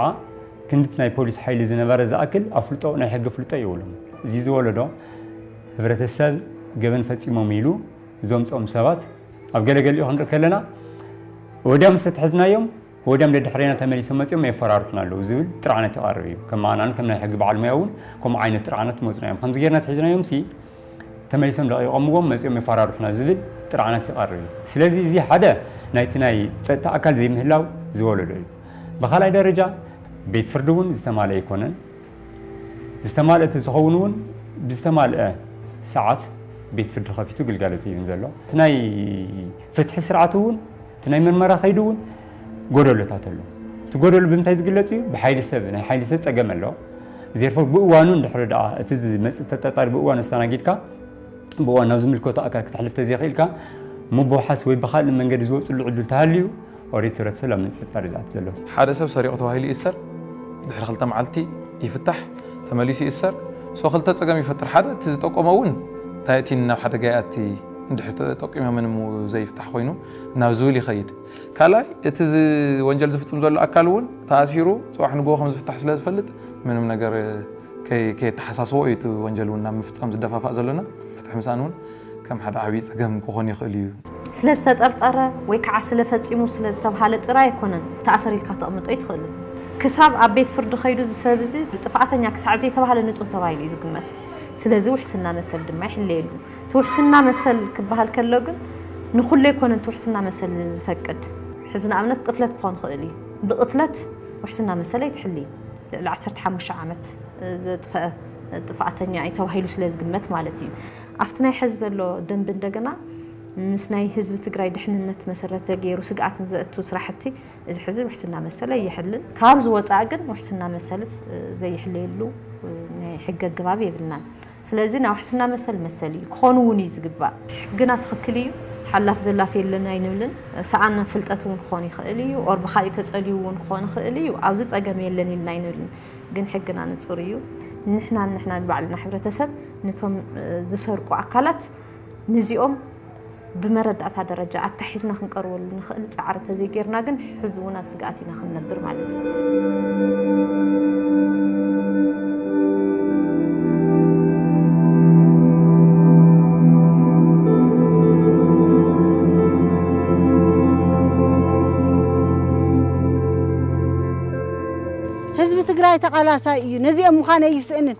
ክንድቲ ናይ ፖሊስ ሓይሊ ዝነበረ ዝኣክል ኣፍልጦ ናይ ሕጊ ፍልጦ የብሎም። እዚ ዝወለዶ ህብረተሰብ ገበን ፈጺሞም ኢሉ ዘምፅኦም ሰባት ኣብ ገለገሊኡ ክንርኢ ከለና ወዲያ ምስ ተትሕዝናዮም ወዲያም ደድሕሬና ተመሊሶም መፂኦም የፈራርሑና ኣለዉ ዝብል ጥርዓነት ይቐርብ እዩ። ከም ኣናን ከም ናይ ሕጊ በዓል ሙያ እውን ከምኡ ዓይነት ጥርዓነት መፅና እዮም። ከምዚ ጌርና ትሒዝናዮም ሲ ተመሊሶም ለቒቖምዎም መፂኦም የፈራርሑና ዝብል ጥርዓነት ይቐርብ እዩ። ስለዚ እዚ ሓደ ናይቲ ናይ ፀጥታ ኣካል ዘይምህላው ዝወለዶ እዩ። ብኻልኣይ ደረጃ ቤት ፍርዲ እውን ዝተማልአ ኣይኮነን። ዝተማልአ ተዝኸውን እውን ብዝተማልአ ሰዓት ቤት ፍርዲ ከፊቱ ግልጋሎት ይህብን ዘሎ። እቲ ናይ ፍትሒ ስርዓት እውን እቲ ናይ ምርመራ ከይዱ እውን ጎደሎታት ኣሎ። እቲ ጎደሎ ብምንታይ ዝግለፅ እዩ? ብሓይሊ ሰብ፣ ናይ ሓይሊ ሰብ ፀገም ኣሎ። ዜርፎ ብእዋኑ እንድሕሪ ደኣ እቲ ዝመፅእ ተጠርጣሪ ብእዋኑ ኣስተናጊድካ ብእዋኑ ናብ ዝምልከቶ ኣካል ክተሕልፍ ተዘይኽእልካ ምብውሓስ ወይ ብኻልእ መንገዲ ዝወፅሉ ዕድል ተሃልዩ ኦሬት ህብረተሰብ ኣብ ምፅርጣር እዩ ዝኣቱ ዘሎ። ሓደ ሰብ ሰሪቑ ተባሂሉ ይእሰር፣ ድሕሪ ክልተ መዓልቲ ይፍታሕ፣ ተመሊሱ ይእሰር። ሶ ክልተ ፀገም ይፈጥር። ሓደ እቲ ዝጠቆመ እውን እንታይ እቲ ናብ ሓደጋ ይኣቲ እንድሕር ተጠቂሞምን እሞ ዘይፍታሕ ኮይኑ ናብ ዝብል ይኸይድ። ካልኣይ እቲ ዝ-፣ ወንጀል ዝፍፅም ዘሎ ኣካል እውን ተኣሲሩ ፅባሕ ንግሆ ከም ዝፍታሕ ስለ ዝፈልጥ ምንም ነገር ከይ-፣ ከየተሓሳስቦ እዩ እቲ ወንጀል እውን ናብ ምፍፃም ዝደፋፋእ ዘሎና። ፍትሒ ምሳን እውን ከም ሓደ ዓብዪ ፀገም ክኾን ይኽእል እዩ። ስለ ዝተጠርጠረ ወይ ከዓ ስለ ፈፂሙ ስለ ዝተብሃለ ጥራይ ኣይኮነን ተኣሰር ኢልካ ተቕምጦ ኣይትኽእልን። ክሳብ ኣብ ቤት ፍርዲ ከይዱ እዚ ሰብ እዚ ጥፍኣተኛ ክሳዕ ዘይተባህለ ንፁህ ተባሂሉ እዩ ዝግመት። ስለዚ ውሕስና መሰል ድማ ይሕለየሉ። እቲ ውሕስና መሰል ክበሃል ከሎ ግን ንኹሉ ኣይኮነን እቲ ውሕስና መሰል ዝፈቅድ። ሕዚ ንኣብነት ቅትለት ክኾን ይኽእል እዩ። ብቕትለት ውሕስና መሰል ኣይትሕልይን። ልዕሊ ዓሰርተ ሓሙሽተ ዓመት ዘጥፈአ ጥፍኣተኛ እዩ ተባሂሉ ስለ ዝግመት ማለት እዩ። ኣብቲ ናይ ሕዚ ዘሎ ደንቢ እንደገና ምስ ናይ ህዝቢ ትግራይ ድሕንነት መሰረት ገይሩ ስግኣት ንዘእቱ ስራሕቲ እዚ ሕዚ ውሕስና መሰል ኣይሕልን። ካብ ዝወፃእ ግን ውሕስና መሰልስ ዘይሕለየሉ ናይ ሕጊ ኣገባብ የብልናን። ስለዚ ናይ ውሕስና መሰል መሰል እዩ፣ ክኾን እውን እዩ ዝግባእ። ሕግና ትኽክል እዩ፣ ሓላፍ ዘላፍ የለን ኣይንብልን። ሰኣን ፍልጠት እውን ክኾን ይኽእል እዩ፣ ኦር ብኻሊእ ተጸልዩ እውን ክኾን ይኽእል እዩ። ኣብዚ ጸገም የለን ኢልና ኣይንብልን፣ ግን ሕግና ንጹር እዩ። ንሕናን ንሕናን ባዕልና ሕብረተሰብ ነቶም ዝሰርቁ ኣካላት ንዚኦም ብመረዳእታ ደረጃ ኣታሒዝና ክንቀርበሉ ንኽእል ጻዕሪ እንተዘይጌርና ግን ሕዚ እውን ኣብ ስግኣት ኢና ክንነብር ማለት እዩ። ህዝቢ ትግራይ ተቓላሳይ እዩ። ነዚኦም ምዃን ኣይስእንን።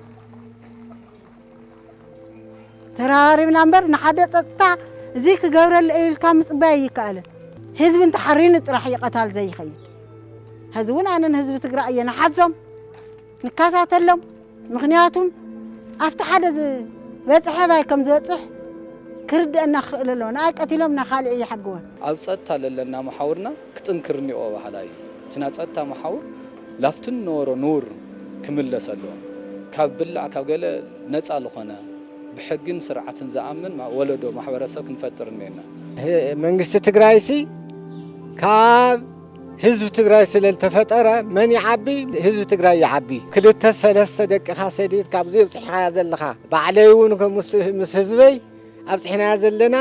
ተራራሪብና እምበር ንሓደ ጸጥታ እዚ ክገብረሉ ኢልካ ምጽባይ ኣይከኣልን። ህዝቢ እንተሓሪኑ ጥራሕ እዩ ቀታል ዘይኸይድ። ሕዚ እውን ኣነ ንህዝቢ ትግራይ እየ ንሓዞም፣ ንከታተሎም። ምኽንያቱም ኣብቲ ሓደ ዝበጽሐ ባይ ከም ዝበጽሕ ክርድአና ክኽእል ኣለዎ። ንኣይ ቀቲሎም ንኻልእ ይሓግወን። ኣብ ጸጥታ ለለና መሓውርና ክጥንክር እኒኦ በሃላይ እዩ። እቲ ናይ ጸጥታ መሓውር ላፍትን ነበሮ ንቡር ክምለስ ኣለዎ። ካብ ብላዕ ካብ ገለ ነጻ ዝኾነ ብሕግን ስርዓትን ዝኣምን ማ-፣ ወለዶ ማሕበረሰብ ክንፈጥር እኒኤና። ህ-፣ መንግስቲ ትግራይሲ ካብ ህዝቢ ትግራይ ስለ ዝተፈጠረ መን ይዓቢ? ህዝቢ ትግራይ ይዓቢ። ክልተ ሰለስተ ደቅኻ ሰዲድ ካብዚ ኣብፅሕኻያ ዘለኻ ባዕለይ እውን ከም ምስ፣ ምስ ህዝበይ ኣብፅሕናያ ዘለና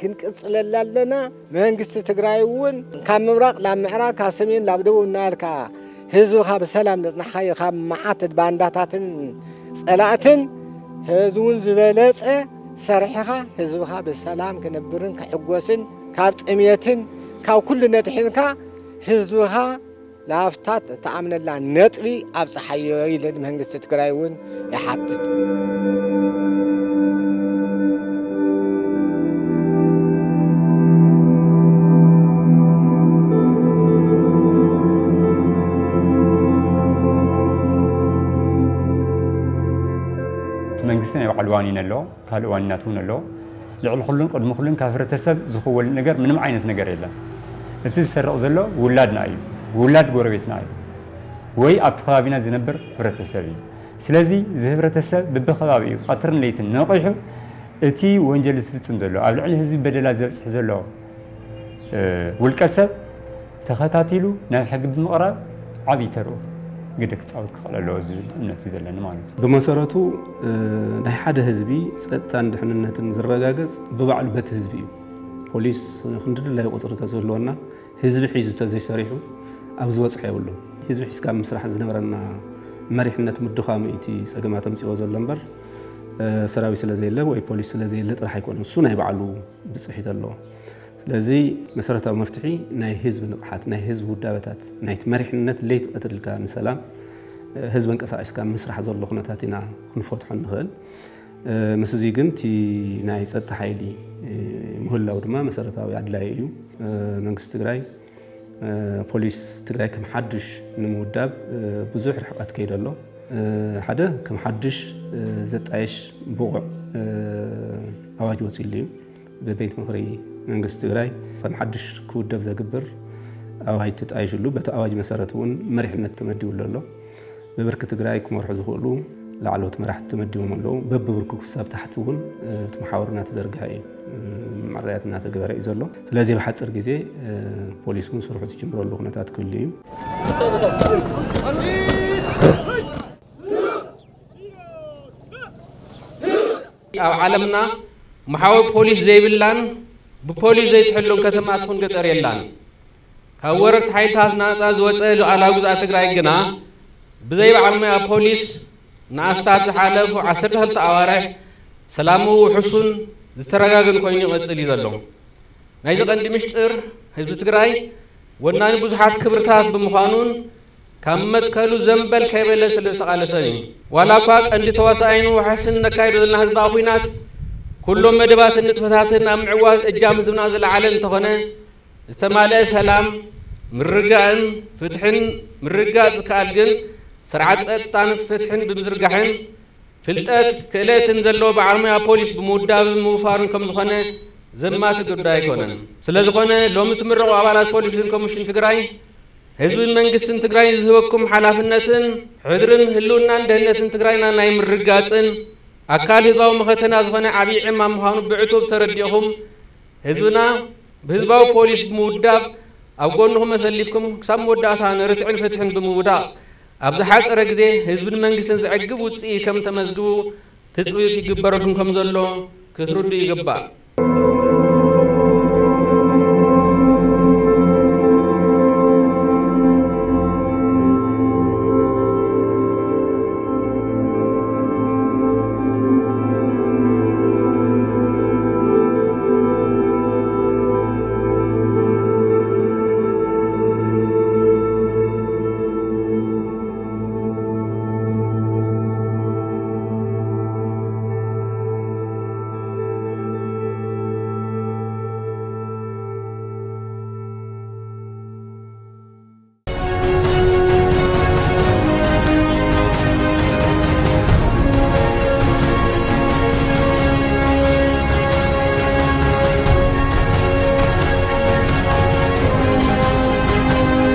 ክንቅፅለላ ኣለና። መንግስቲ ትግራይ እውን ካብ ምብራቕ ላብ ምዕራብ፣ ካብ ሰሜን ላብ ደቡብ እናበልካ ህዝብኻ ብሰላም ዘፅናሕኻዮ ካብ መዓት ባንዳታትን ፀላእትን፣ ህዝቢ እውን ዝበለፀ ሰሪሕኻ ህዝብኻ ብሰላም ክነብርን ክሕጎስን ካብ ጥሜትን ካብ ኩሉ ነድሒንካ ህዝብኻ ላፍታ እተኣምነላ ነጥቢ ኣብፅሓዮ ኢለ ንመንግስቲ ትግራይ እውን ይሓትት። እቲ መንግስቲ ናይ ባዕሉ ዋኒን ኣለዎ፣ ካልእ ዋኒናት እውን ኣለዎ። ልዕሊ ኩሉን ቅድሚ ኩሉን ካብ ህብረተሰብ ዝኽወል ነገር ምንም ዓይነት ነገር የለን። እቲ ዝሰርቕ ዘሎ ውላድና እዩ፣ ውላድ ጎረቤትና እዩ፣ ወይ ኣብቲ ከባቢና ዝነብር ህብረተሰብ እዩ። ስለዚ እዚ ህብረተሰብ ብብኸባቢኡ ቀትርን ለይትን ነቒሑ እቲ ወንጀል ዝፍጽም ዘሎ፣ ኣብ ልዕሊ ህዝቢ በደላት ዘብጽሕ ዘሎ፣ እ፣ ውልቀ ሰብ ተኸታቲሉ ናብ ሕጊ ብምቕራብ ዓብዪ ተርኡ ግደ ክጻወት ክኽእል ኣለዎ ዝብል እምነት እዩ ዘለኒ ማለት እዩ። ብመሰረቱ፣ እ፣ ናይ ሓደ ህዝቢ ጸጥታን ድሕንነትን ዝረጋገጽ ብባዕሉ በቲ ህዝቢ እዩ። ፖሊስ ክንዲ ድላዩ ቁጽሪ ተዝህልወና ህዝቢ ሒዙ ተዘይሰሪሑ ኣብ ዝበጽሖ የብሉን። ህዝቢ ሒዝካ ምስራሕ ዝነበረና መሪሕነት ምድኻሙ እቲ ጸገማት ኣምጺኦ ዘሎ እምበር፣ እ፣ ሰራዊት ስለ ዘየለ ወይ ፖሊስ ስለ ዘየለ ጥራሕ ኣይኮነን። እሱ ናይ ባዕሉ ብጽሒት ኣለዎ። ስለዚ መሰረታዊ መፍትሒ ናይ ህዝቢ ንቕሓት፣ ናይ ህዝቢ ውዳበታት፣ ናይቲ መሪሕነት ለይቲ ቀትሪ ኢልካ ንሰላም፣ እ፣ ህዝቢ ኣንቀሳቒስካ ምስራሕ ዘሎ ኩነታት ኢና ክንፈትሖ ንኽእል። እ፣ ምስ እዚ ግን እቲ ናይ ጸጥታ ሓይሊ፣ እ፣ ምህላው ድማ መሰረታዊ ኣድላዪ እዩ። እ፣ መንግስቲ ትግራይ፣ እ፣ ፖሊስ ትግራይ ከም ሓድሽ ንምውዳብ፣ እ፣ ብዙሕ ርሕቀት ከይደ ኣሎ። እ፣ ሓደ ከም ሓድሽ፣ እ፣ ዘጣየሽ ብቑዕ፣ እ፣ ኣዋጅ ወፂሉ እዩ። ብቤት ምኽሪ መንግስቲ ትግራይ ከም ሓድሽ ክውደብ ዘግብር ኣዋጅ ተጣይሽሉ። በቲ ኣዋጅ መሰረት እውን መሪሕነት ተመዲቡሉ ኣሎ። ብብርኪ ትግራይ ክመርሑ ዝኽእሉ ላዕለዎት መራሕቲ ተመዲቦም ኣለዉ። በብብርኩ ክሳብ ታሕቲ እውን፣ እ፣ እቲ መሓውር እናተዘርግሐ እዩ፣ እ፣ መዕረያት እናተገበረ እዩ ዘሎ። ስለዚ ብሓፂር ግዜ፣ እ፣ ፖሊስ እውን ስርሑ ዝጅምረሉ ኩነታት ክህሉ እዩ። ኣብ ዓለምና መሓውር ፖሊስ ዘይብላን ብፖሊስ ዘይትሕሎን ከተማ ትኹን ገጠር የላን። ካብ ወረርቲ ሓይልታት ናጻ ዝወጸ ሉዓላዊ ግዝኣት ትግራይ ግና ብዘይ በዓል ሞያ ፖሊስ ንኣስታት ዝሓለፉ ዓሰርተ ክልተ ኣዋርሕ ሰላሙ ውሑሱን ዝተረጋገን ኮይኑ ይቐጽል እዩ ዘሎ። ናይዚ ቀንዲ ምሽጥር ህዝቢ ትግራይ ወናኒ ብዙሓት ክብርታት ብምዃኑን ካብ መትከሉ ዘንበል ከይበለ ስለ ዝተቓለሰን እዩ። ዋላ እኳ ቀንዲ ተዋሳኣይን ዋሕስን ነካይዶ ዘለና ህዝባዊ ኲናት ኩሎም መደባትን ንጥፈታትን ኣብ ምዕዋት እጃም ህዝብና ዝለዓለ እንተኾነ ዝተማልአ ሰላም፣ ምርግጋእን ፍትሕን ምርግጋጽ ዝከኣል ግን ስርዓት ጸጥታን ፍትሕን ብምዝርጋሕን ፍልጠት ክእለትን ዘለዎ በዓል ሞያ ፖሊስ ብምውዳብን ምውፋርን ከም ዝኾነ ዘማቲ ጉዳይ ኣይኮነን። ስለ ዝኾነ ሎሚ ትምረቑ ኣባላት ፖሊስን ኮሚሽን ትግራይ ህዝብን መንግስትን ትግራይ ዝህበኩም ሓላፍነትን ሕድርን ህልውናን ደህንነትን ትግራይና ናይ ምርጋፅን ኣካል ህዝባዊ መኸተና ዝኾነ ዓብዪ ዕማም ምዃኑ ብዕቱብ ተረዲእኹም ህዝብና ብህዝባዊ ፖሊስ ብምውዳብ ኣብ ጎንኹም ኣሰሊፍኩም ክሳብ መወዳእታ ንርትዕን ፍትሕን ብምውዳቕ ኣብ ዝሓፀረ ግዜ ህዝብን መንግስትን ዘዕግብ ውፅኢ ከም ተመዝግቡ ትፅቢት ይግበረልኩም ከም ዘሎ ክትርዱ ይግባእ።